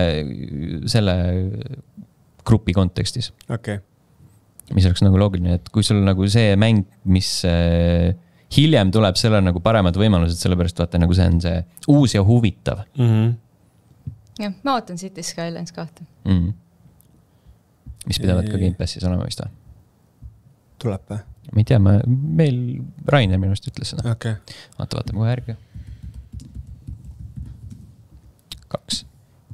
selle grupi kontekstis. Okei. Okay. Mis oleks nagu loogiline, et kui sul nagu see mäng, mis äh, hiljem tuleb, selle nagu paremad võimalused, sellepärast vaata nagu see on see uus ja huvitav. Mm-hmm. Jah, ma ootan City Skylines kahte. Mm. Mis pidavad ka Game Passis olema vist või? Tuleb või? Ma ei tea, ma, meil Rainer minust ütles seda. Okay. Vaata, vaatame kohe järgi. Kaks.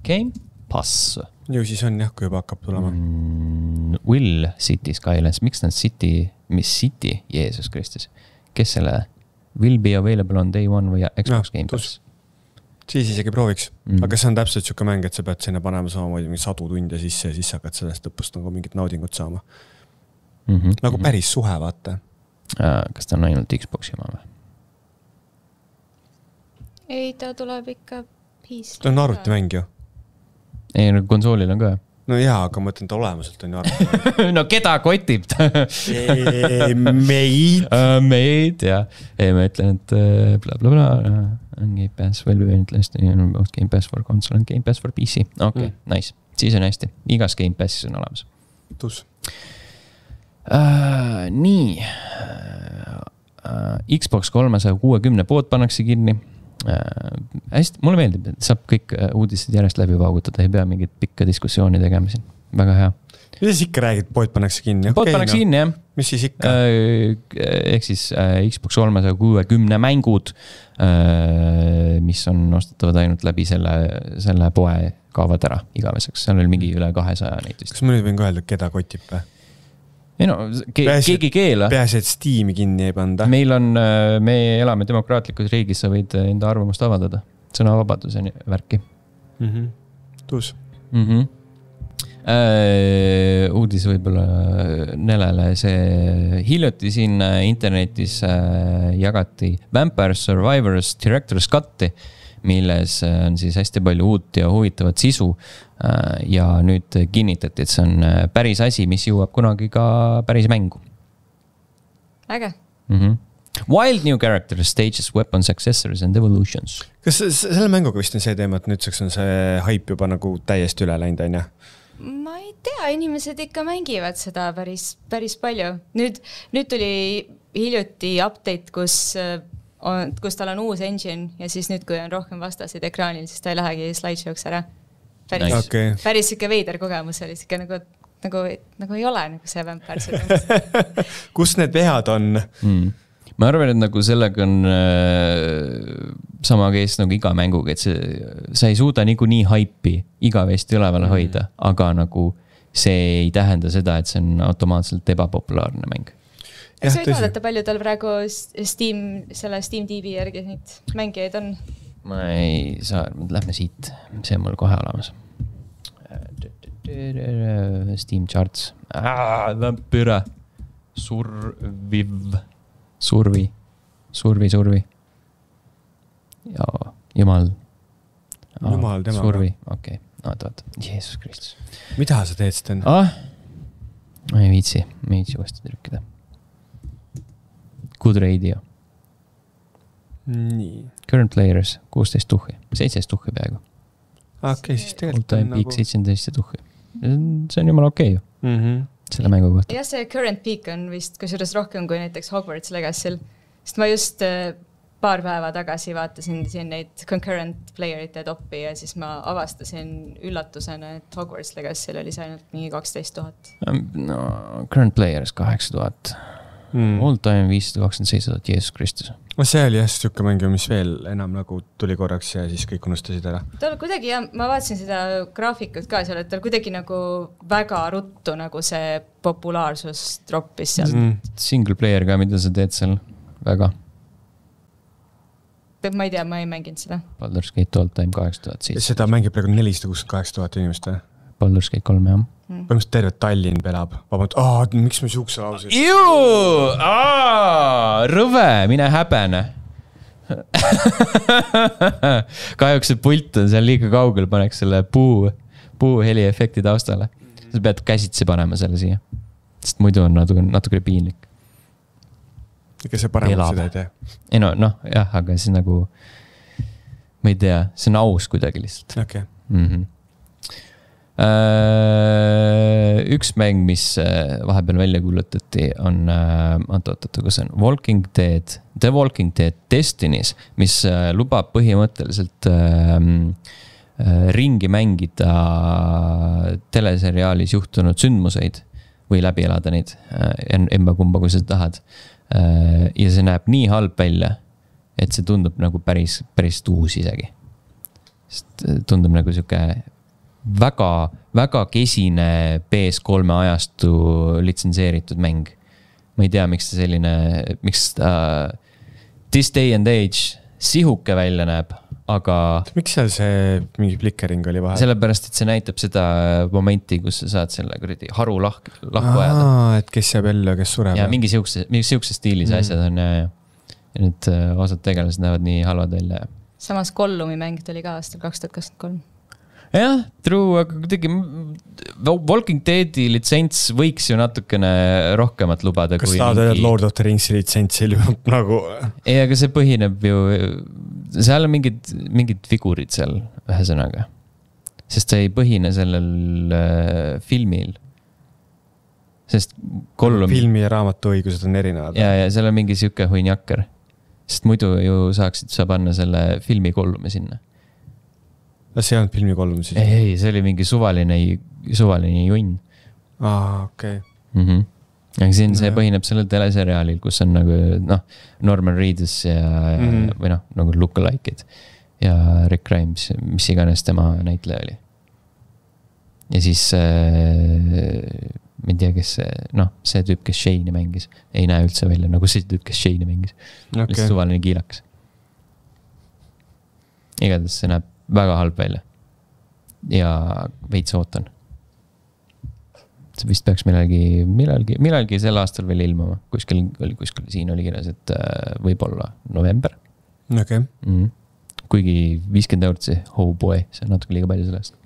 Game Pass. Ju siis on jah, kui juba hakkab tulema. Mm, Will City Skylines. Miks nad City, mis City? Jeesus Kristus. Kes selle? Will be available on day one või Xbox ja, Game Pass? Siis isegi prooviks. Mm. Aga see on täpselt siuke mäng, et sa pead sinna panema samamoodi mingi sadu tunde sisse ja siis hakkad sellest lõpust nagu mingit naudingut saama. Mm-hmm. Nagu päris suhe, vaata. Kas ta on ainult Xboxi oma või? Ei, ta tuleb ikka P C. Ta on arvutimäng ju. Ei, no konsoolil on ka. No jaa, aga ma ütlen, ta olemuselt on ju arvutimäng. No keda kotib ta? Meid. Meid, jah. Ei, ma ütlen, et bla bla bla. On Game Pass, well be Game Pass for console on Game Pass for P C. Okei, okay, mm. Nice. Siis on hästi. Igas Game Passis on olemas. Tus. Uh, nii. Uh, Xbox kolmesaja kuuekümne pood pannakse kinni. Uh, hästi, mulle meeldib, et saab kõik uudised järjest läbi vaagutada, ei pea mingit pikka diskussiooni tegema siin. Väga hea. Mis siis ikka räägid, pood pannakse kinni? Pood okay, pannakse no. kinni, jah. Mis siis ikka? Uh, ehk siis uh, Xbox kolmesaja kuuekümne mängud, uh, mis on ostetavad ainult läbi selle, selle poe kaovad ära igaveseks, seal oli mingi üle kahesaja neid vist. Kas ma nüüd võin ka öelda, keda kotib või? ei no, ke Pääsi, keegi keela. Peaasi, et Steam'i kinni ei panda. Meil on, me elame demokraatlikus riigis, sa võid enda arvamust avaldada. Sõnavabaduse värki. Mm-hmm. Tuus. Mm-hmm. Äh, uudis võib-olla Nelele, see hiljuti siin internetis äh, jagati Vampire Survivors Director's Cut'i, milles on siis hästi palju uut ja huvitavat sisu äh, ja nüüd kinnitati, et see on päris asi, mis jõuab kunagi ka päris mängu. Äge. Mm-hmm. Wild new characters, stages, weapons, accessories and evolutions. Kas selle mänguga vist on see teema, et nüüdseks on see hype juba nagu täiesti üle läinud, on ja? Ma ei tea, inimesed ikka mängivad seda päris, päris palju. Nüüd, nüüd tuli hiljuti update, kus, on, kus tal on uus engine ja siis nüüd, kui on rohkem vastasid ekraanil, siis ta ei lähegi slideshow'ks ära. Päris, nice. okay. päris siuke veider kogemus oli siuke nagu, nagu, nagu ei ole nagu see Vampire. Kus need vehad on? Mm. Ma arvan, et nagu sellega on äh, sama kees nagu iga mänguga, et see, sa ei suuda nagu nii haipi igavesti üleval hoida, mm. aga nagu see ei tähenda seda, et see on automaatselt ebapopulaarne mäng. Kas võid vaadata, palju tal praegu Steam, selle Steam T V järgi neid mängijaid on? Ma ei saa, lähme siit, see on mul kohe olemas. Steam charts. Vampire. Surviv. Survi. Survi, survi. Ja, jumal. Jumal, tema. Survi, okei. Okay. Oot, oot. Jeesus Kristus. Mida sa teed, Sten? Ah? Ma ei viitsi. Ma ei viitsi uuesti trükkida. Good radio. Nii. Current players, kuusteist tuhhi. seitseteist tuhhi peaaegu. Okei, okay, siis tegelikult on nagu... Peak seitseteist tuhhi. See on jumal okei ju. Mhm. Selle mängu kohta. Ja see current peak on vist kusjuures rohkem kui näiteks Hogwarts Legacy'l. Sest ma just paar päeva tagasi vaatasin siin neid concurrent playerite toppi ja siis ma avastasin üllatusena, et Hogwarts Legacy'l oli see ainult mingi kaksteist tuhat. No, current players kaheksa tuhat. Mm. All time viissada kakskümmend seitse tuhat, Jeesus Kristus. No see oli jah siuke mängu, mis veel enam nagu tuli korraks ja siis kõik unustasid ära. Tal kuidagi, ja ma vaatasin seda graafikut ka seal, et tal kuidagi nagu väga ruttu nagu see populaarsus droppis sealt. Mm. Single player ka, mida sa teed seal väga? Ma ei tea, ma ei mänginud seda. Baldur's Gate all time kaheksa tuhat seitse. Seda mängib praegu nelisada kuuskümmend kaheksa tuhat inimest või? Baldur's Gate kolm, jah. Mm. Põhimõtteliselt terve Tallinn pelab. Vabalt, aah, miks me siukse lausid? Juu! Aa, rõve, mine häbene. Kahjuks see pult on seal liiga kaugel, paneks selle puu, puu heli efekti taustale. Sa pead käsitsi panema selle siia. Sest muidu on natuke, natuke piinlik. Ega see paremalt seda ei tee? Ei no, noh, jah, aga see nagu, ma ei tea, see on aus kuidagi lihtsalt. Okay. Mhm. Üks mäng, mis vahepeal välja kuulutati, on oot-oot-oot, kus on Walking Dead, The Walking Dead Destinies, mis lubab põhimõtteliselt ringi mängida teleseriaalis juhtunud sündmuseid või läbi elada neid emba kumba, kui sa tahad. Ja see näeb nii halb välja, et see tundub nagu päris, päris tuus isegi. Sest tundub nagu siuke väga, väga kesine P S kolme ajastu litsenseeritud mäng. Ma ei tea, miks ta selline, miks ta this day and age sihuke välja näeb, aga... Miks seal see mingi flickering oli vahel? Sellepärast, et see näitab seda momenti, kus sa saad selle kuradi haru lahku, lahku ajada. Aa, et kes jääb ellu ja kes sureb. Ja mingi siukse, mingi siukse stiilis mm. asjad on ja, ja. ja nüüd osad tegelased näevad nii halvad välja. Samas Gollumi mäng tuli ka aastal kaks tuhat kakskümmend kolm. Jah, true, aga kuidagi Walking Deadi litsents võiks ju natukene rohkemat lubada. Kas tahad öelda Lord of the Ringsi litsentsil nagu? Ei, aga see põhineb ju, seal on mingid, mingid figurid seal ühesõnaga. Sest see ei põhine sellel äh, filmil. Sest Gollum... Filmi ja raamatu õigused on erinevad. Ja, ja seal on mingi siuke huinjakker. Sest muidu ju saaksid sa panna selle filmi Gollumi sinna. See on filmi kolm siis? Ei, ei, see oli mingi suvaline, suvaline junn. Aa, okei. Okay. Mm-hmm. Aga siin see põhineb sellel teleseriaalil, kus on nagu, noh, Norman Reedus ja, mm-hmm. või noh, nagu lookalike'id ja Rick Grimes, mis iganes tema näitleja oli. ja siis äh, ma ei tea, kes see, noh, see tüüp, kes Shane'i mängis, ei näe üldse välja nagu see tüüp, kes Shane'i mängis. Okay. Lihtsalt suvaline kiilakas. Igatahes see näeb väga halb välja. Ja veits ootan. See vist peaks millalgi, millalgi, millalgi sel aastal veel ilmuma. Kuskil, kuskil siin oli kirjas, et võib-olla november. Okay. Mm. Kuigi viiskümmend eurot see, oh boy, see on natuke liiga palju sellest.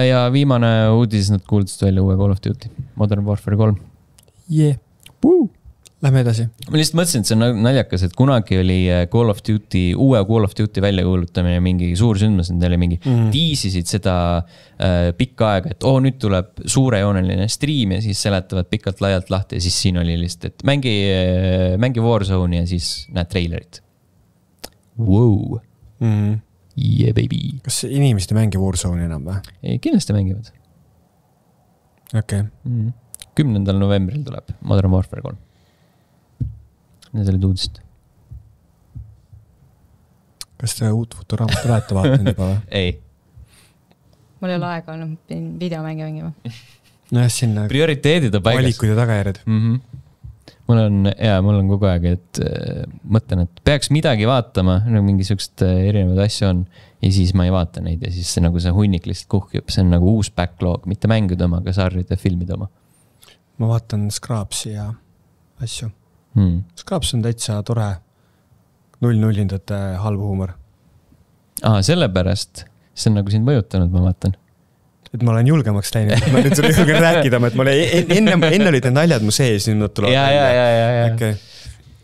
Ja viimane uudis, nad kuuldasid välja uue Call of Duty, Modern Warfare kolm. Yeah. Woo. Lähme edasi. Ma lihtsalt mõtlesin, et see on naljakas, et kunagi oli Call of Duty, uue Call of Duty välja kuulutamine mingi suur sündmus, need oli mingi mm. tiisisid seda äh, pikka aega, et oo, nüüd tuleb suurejooneline stream ja siis seletavad pikalt laialt lahti ja siis siin oli lihtsalt, et mängi, mängi Warzone'i ja siis näed trailerit. Wow. Mm. Yeah, baby. Kas inimesed ei mängi Warzone'i enam või? Ei, kindlasti mängivad. Okay. Mm. kümnendal novembril tuleb Modern Warfare kolm. Need olid uudist. Kas te uut Futuraamat olete vaatanud juba või? Ei. Mul ei ole aega olnud, pidin videomänge mängima. No jah, sinna prioriteedid on paigas. Valikud ja tagajärjed. Mm-hmm. Mul on, jaa, mul on kogu aeg, et äh, mõtlen, et peaks midagi vaatama, nagu mingi sükst äh, erinevad asju on ja siis ma ei vaata neid ja siis see, nagu see hunnik lihtsalt kuhkib. See on nagu uus backlog, mitte mängude oma, aga sarjade filmide oma. Ma vaatan Scrubsi ja asju. Hmm. Scrubs on täitsa tore null-nullindate halb huumor. Aa, sellepärast. See on nagu sind mõjutanud, ma vaatan. Et ma olen julgemaks läinud. Ma nüüd sulle julgen rääkida, et mul enne, enne olid need naljad mu sees, nüüd nad tulevad. Ja, ja, ja, ja, ja. Okay.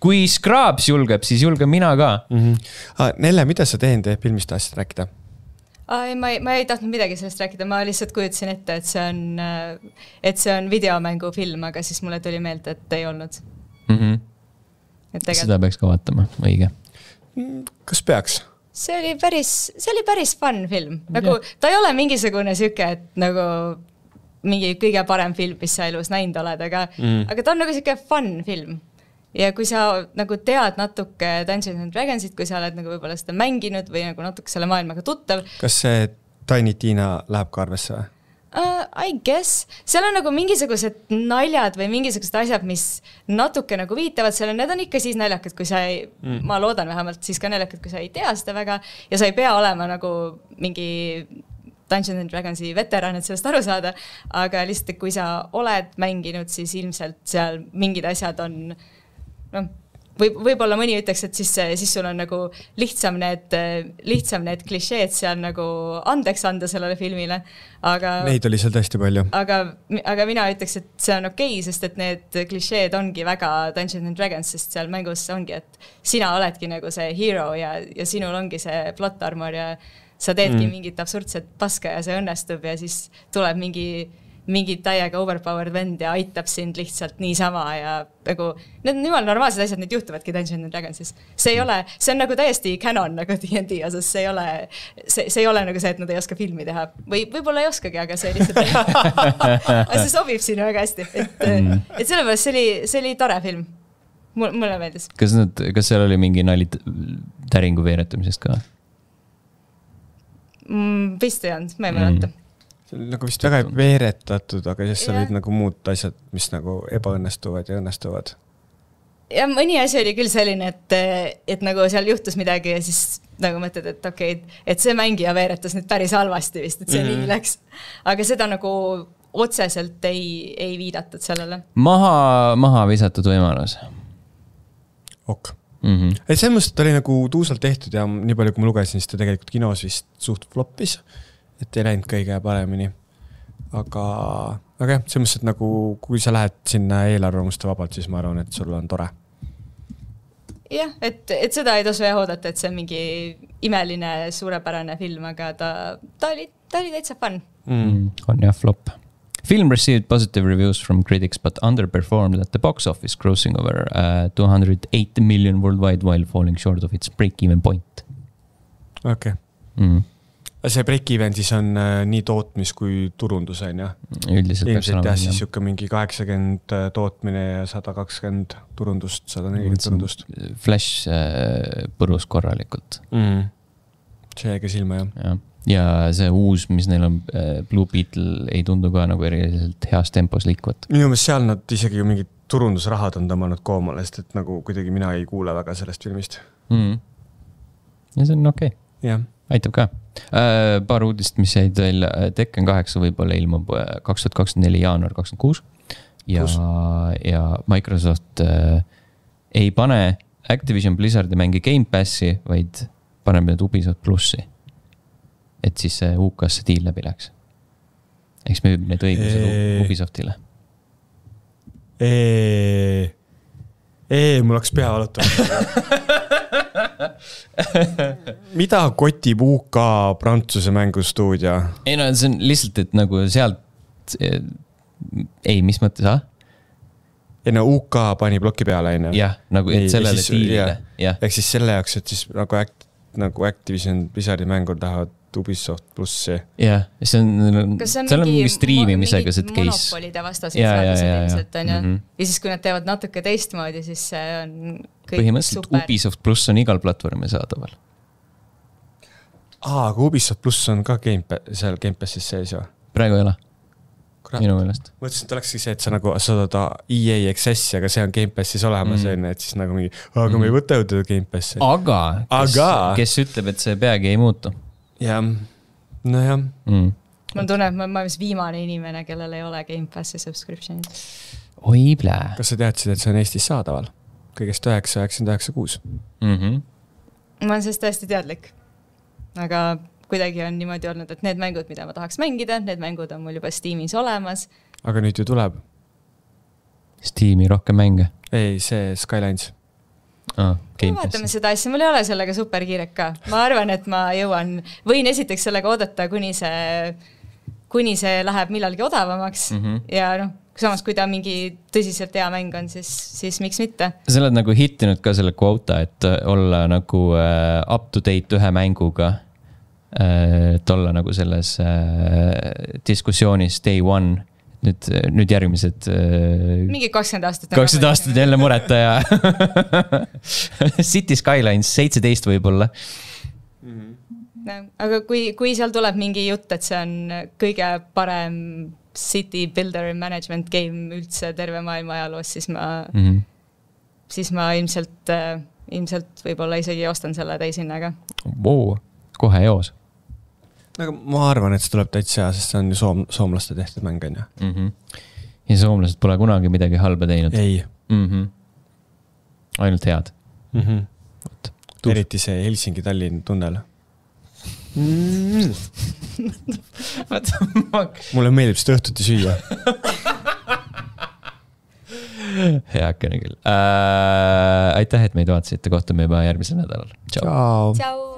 Kui Scrubs julgeb, siis julgen mina ka. Mm-hmm. Ah, Nelle, mida sa teinud filmist tahtsid rääkida? Ai, ma, ei, ma ei tahtnud midagi sellest rääkida, ma lihtsalt kujutasin ette, et see on, et see on videomängu film, aga siis mulle tuli meelde, et ei olnud. Mm-hmm. Tegelt... Seda peaks ka vaatama, õige. Kas peaks? See oli päris, see oli päris fun film. Nagu, ta ei ole mingisugune süke, et nagu mingi kõige parem film, mis sa elus näinud oled, aga, mm. aga ta on nagu süke fun film. Ja kui sa nagu tead natuke Dungeons and Dragonsit, kui sa oled nagu võib-olla seda mänginud või nagu natuke selle maailmaga tuttav. Kas see Tiny Tina läheb ka arvesse või? Uh, I guess. Seal on nagu mingisugused naljad või mingisugused asjad, mis natuke nagu viitavad selle, need on ikka siis naljakad, kui sa ei, mm. ma loodan vähemalt siis ka naljakad, kui sa ei tea seda väga ja sa ei pea olema nagu mingi Dungeons and Dragonsi veteran, et sellest aru saada, aga lihtsalt, kui sa oled mänginud, siis ilmselt seal mingid asjad on, noh, Võib, võib-olla mõni ütleks, et siis, siis sul on nagu lihtsam need, lihtsam need klišeed seal nagu andeks anda sellele filmile, aga... Neid oli seal tõesti palju. Aga, aga mina ütleks, et see on okei, sest et need klišeed ongi väga Dungeons and Dragons, sest seal mängus ongi, et sina oledki nagu see hero ja, ja sinul ongi see plot armor ja sa teedki mm. mingit absurdset paska ja see õnnestub ja siis tuleb mingi... mingi täiega overpowered vend ja aitab sind lihtsalt niisama ja nagu, need on jumal normaalsed asjad, need juhtuvadki Dungeons and Dragonsis. See ei ole, see on nagu täiesti canon nagu D and D osas, see ei ole, see, see ei ole nagu see, et nad ei oska filmi teha. Või võib-olla ei oskagi, aga see lihtsalt aga see sobib sinna väga hästi. Et, mm. et sellepärast see oli, see oli tore film. Mul, mulle meeldis. Kas, nad, kas seal oli mingi nali täringu veeretamisest ka? Mm, vist ei olnud, ma ei mäleta. Mm. Nagu vist väga veeretatud, aga siis yeah. olid nagu muud asjad, mis nagu ebaõnnestuvad ja õnnestuvad. Ja mõni asi oli küll selline, et, et nagu seal juhtus midagi ja siis nagu mõtled, et okei, okay, et see mängija veeretas nüüd päris halvasti vist, et see mm-hmm. nii läks. Aga seda nagu otseselt ei, ei viidatud sellele. Maha, maha visatud võimalus. Ok. Mm-hmm. Et see mõttes, et oli nagu tuusalt tehtud ja nii palju, kui ma lugesin, siis ta tegelikult kinos vist suht floppis. Et ei läinud kõige paremini. Aga, aga jah, see mõttes, et nagu, kui sa lähed sinna eelarvamuste vabalt, siis ma arvan, et sul on tore. Jah, et, et seda ei tasu jah oodata, et see on mingi imeline, suurepärane film, aga ta, ta, oli, ta oli täitsa fun. Mm, on jah, flop. Film received positive reviews from critics, but underperformed at the box office, grossing over uh, two hundred eight million worldwide while falling short of its break-even point. Okay. Mm. See break-even siis on äh, nii tootmis kui turundus, on ja? Üldiselt peaks olema. Jah, siis jukka mingi kaheksakümmend tootmine ja sada kakskümmend turundust, sada nelikümmend turundust. Flash äh, põrus korralikult. Mm. See jäi ka silma, jah. Ja. ja see uus, mis neil on, Blue Beetle, ei tundu ka nagu eriliselt heas tempos liikuvat. Minu meelest seal nad isegi ju mingid turundusrahad on tõmmanud koomale, sest et nagu kuidagi mina ei kuule väga sellest filmist. Mm. Ja see on okei. Okay. Jah. Aitab ka. Äh, paar uudist, mis jäid veel, Tekken kaheksa võib-olla ilmub kaks tuhat kakskümmend neli jaanuar kakskümmend kuus ja, ja Microsoft äh, ei pane Activision Blizzardi mängi Game Passi, vaid paneb need Ubisoft plussi. Et siis see U K-sse diil läbi läks. Eks müüb need õigused eee. Ubisoftile. Eee, eee, mul oleks pea valutama. Mida kotib U K Prantsuse mängustuudio? Ei no see on lihtsalt, et nagu sealt ei, mis mõttes, ah? Ei no U K pani ploki peale, ei no? Jah, nagu et sellele ja siis, diilile. Ja. Ehk siis selle jaoks, et siis nagu, act, nagu Activision Blizzardi mängur tahavad Ubisoft plussi. Jah, see on, see on seal on mingi striimimisega see case. Monopolide vastased seadused ilmselt on ja. Mm -hmm. ja siis kui nad teevad natuke teistmoodi, siis see on kõik põhimõtteliselt super. Ubisoft pluss on igal platvormi saadaval. Aa, aga Ubisoft pluss on ka game, seal Game Passis sees ju? Praegu ei ole. Minu meelest. Mõtlesin, et olekski see, et sa nagu saad E A Accessi, aga see on Game Passis olemas, mm. et siis nagu mingi, aga mm. me ei võta jõuda Game Passi. Aga, kes, aga. kes ütleb, et see peagi ei muutu? Jah, no jah. Mm. Ma tunnen, et ma olen viimane inimene, kellel ei ole Game Passi subscriptionid. Oi, plää. Kas sa teadsid, et see on Eestis saadaval? Kõigest üheksa üheksakümmend üheksa kuus. Mm-hmm. Ma olen sellest tõesti teadlik. Aga kuidagi on niimoodi olnud, et need mängud, mida ma tahaks mängida, need mängud on mul juba Steamis olemas. Aga nüüd ju tuleb. Steami rohkem mänge? Ei, see Skylines. Ah, ma vaatame seda asja, mul ei ole sellega super kiirek ka. Ma arvan, et ma jõuan, võin esiteks sellega oodata, kuni see, kuni see läheb millalgi odavamaks. Mm-hmm. Ja noh, samas kui ta mingi tõsiselt hea mäng on, siis, siis miks mitte? Sa oled nagu hittinud ka selle quota, et olla nagu up to date ühe mänguga. Et olla nagu selles diskussioonis day one. Nüüd, nüüd järgmised... Mingi kakskümmend aastat. kakskümmend aastat jälle mureta ja City Skylines seitseteist võib-olla. No, aga kui, kui seal tuleb mingi jutt, et see on kõige parem city builder management game üldse terve maailma ajaloos, siis ma, mm-hmm. siis ma ilmselt, ilmselt võib-olla isegi ostan selle täishinnaga. Wow, kohe joos. Aga ma arvan, et see tuleb täitsa, sest see on ju soom, soomlaste tehtud mäng, on ju. Mm-hmm. Ja soomlased pole kunagi midagi halba teinud. Ei. Mm-hmm. Ainult head. Mm-hmm. Eriti see Helsingi-Tallinn tunnel. Mm. Mulle meeldib seda õhtuti süüa. Heakene küll. Äh, aitäh, et meid vaatasite. Kohtume juba järgmisel nädalal. Ciao. Ciao. Ciao.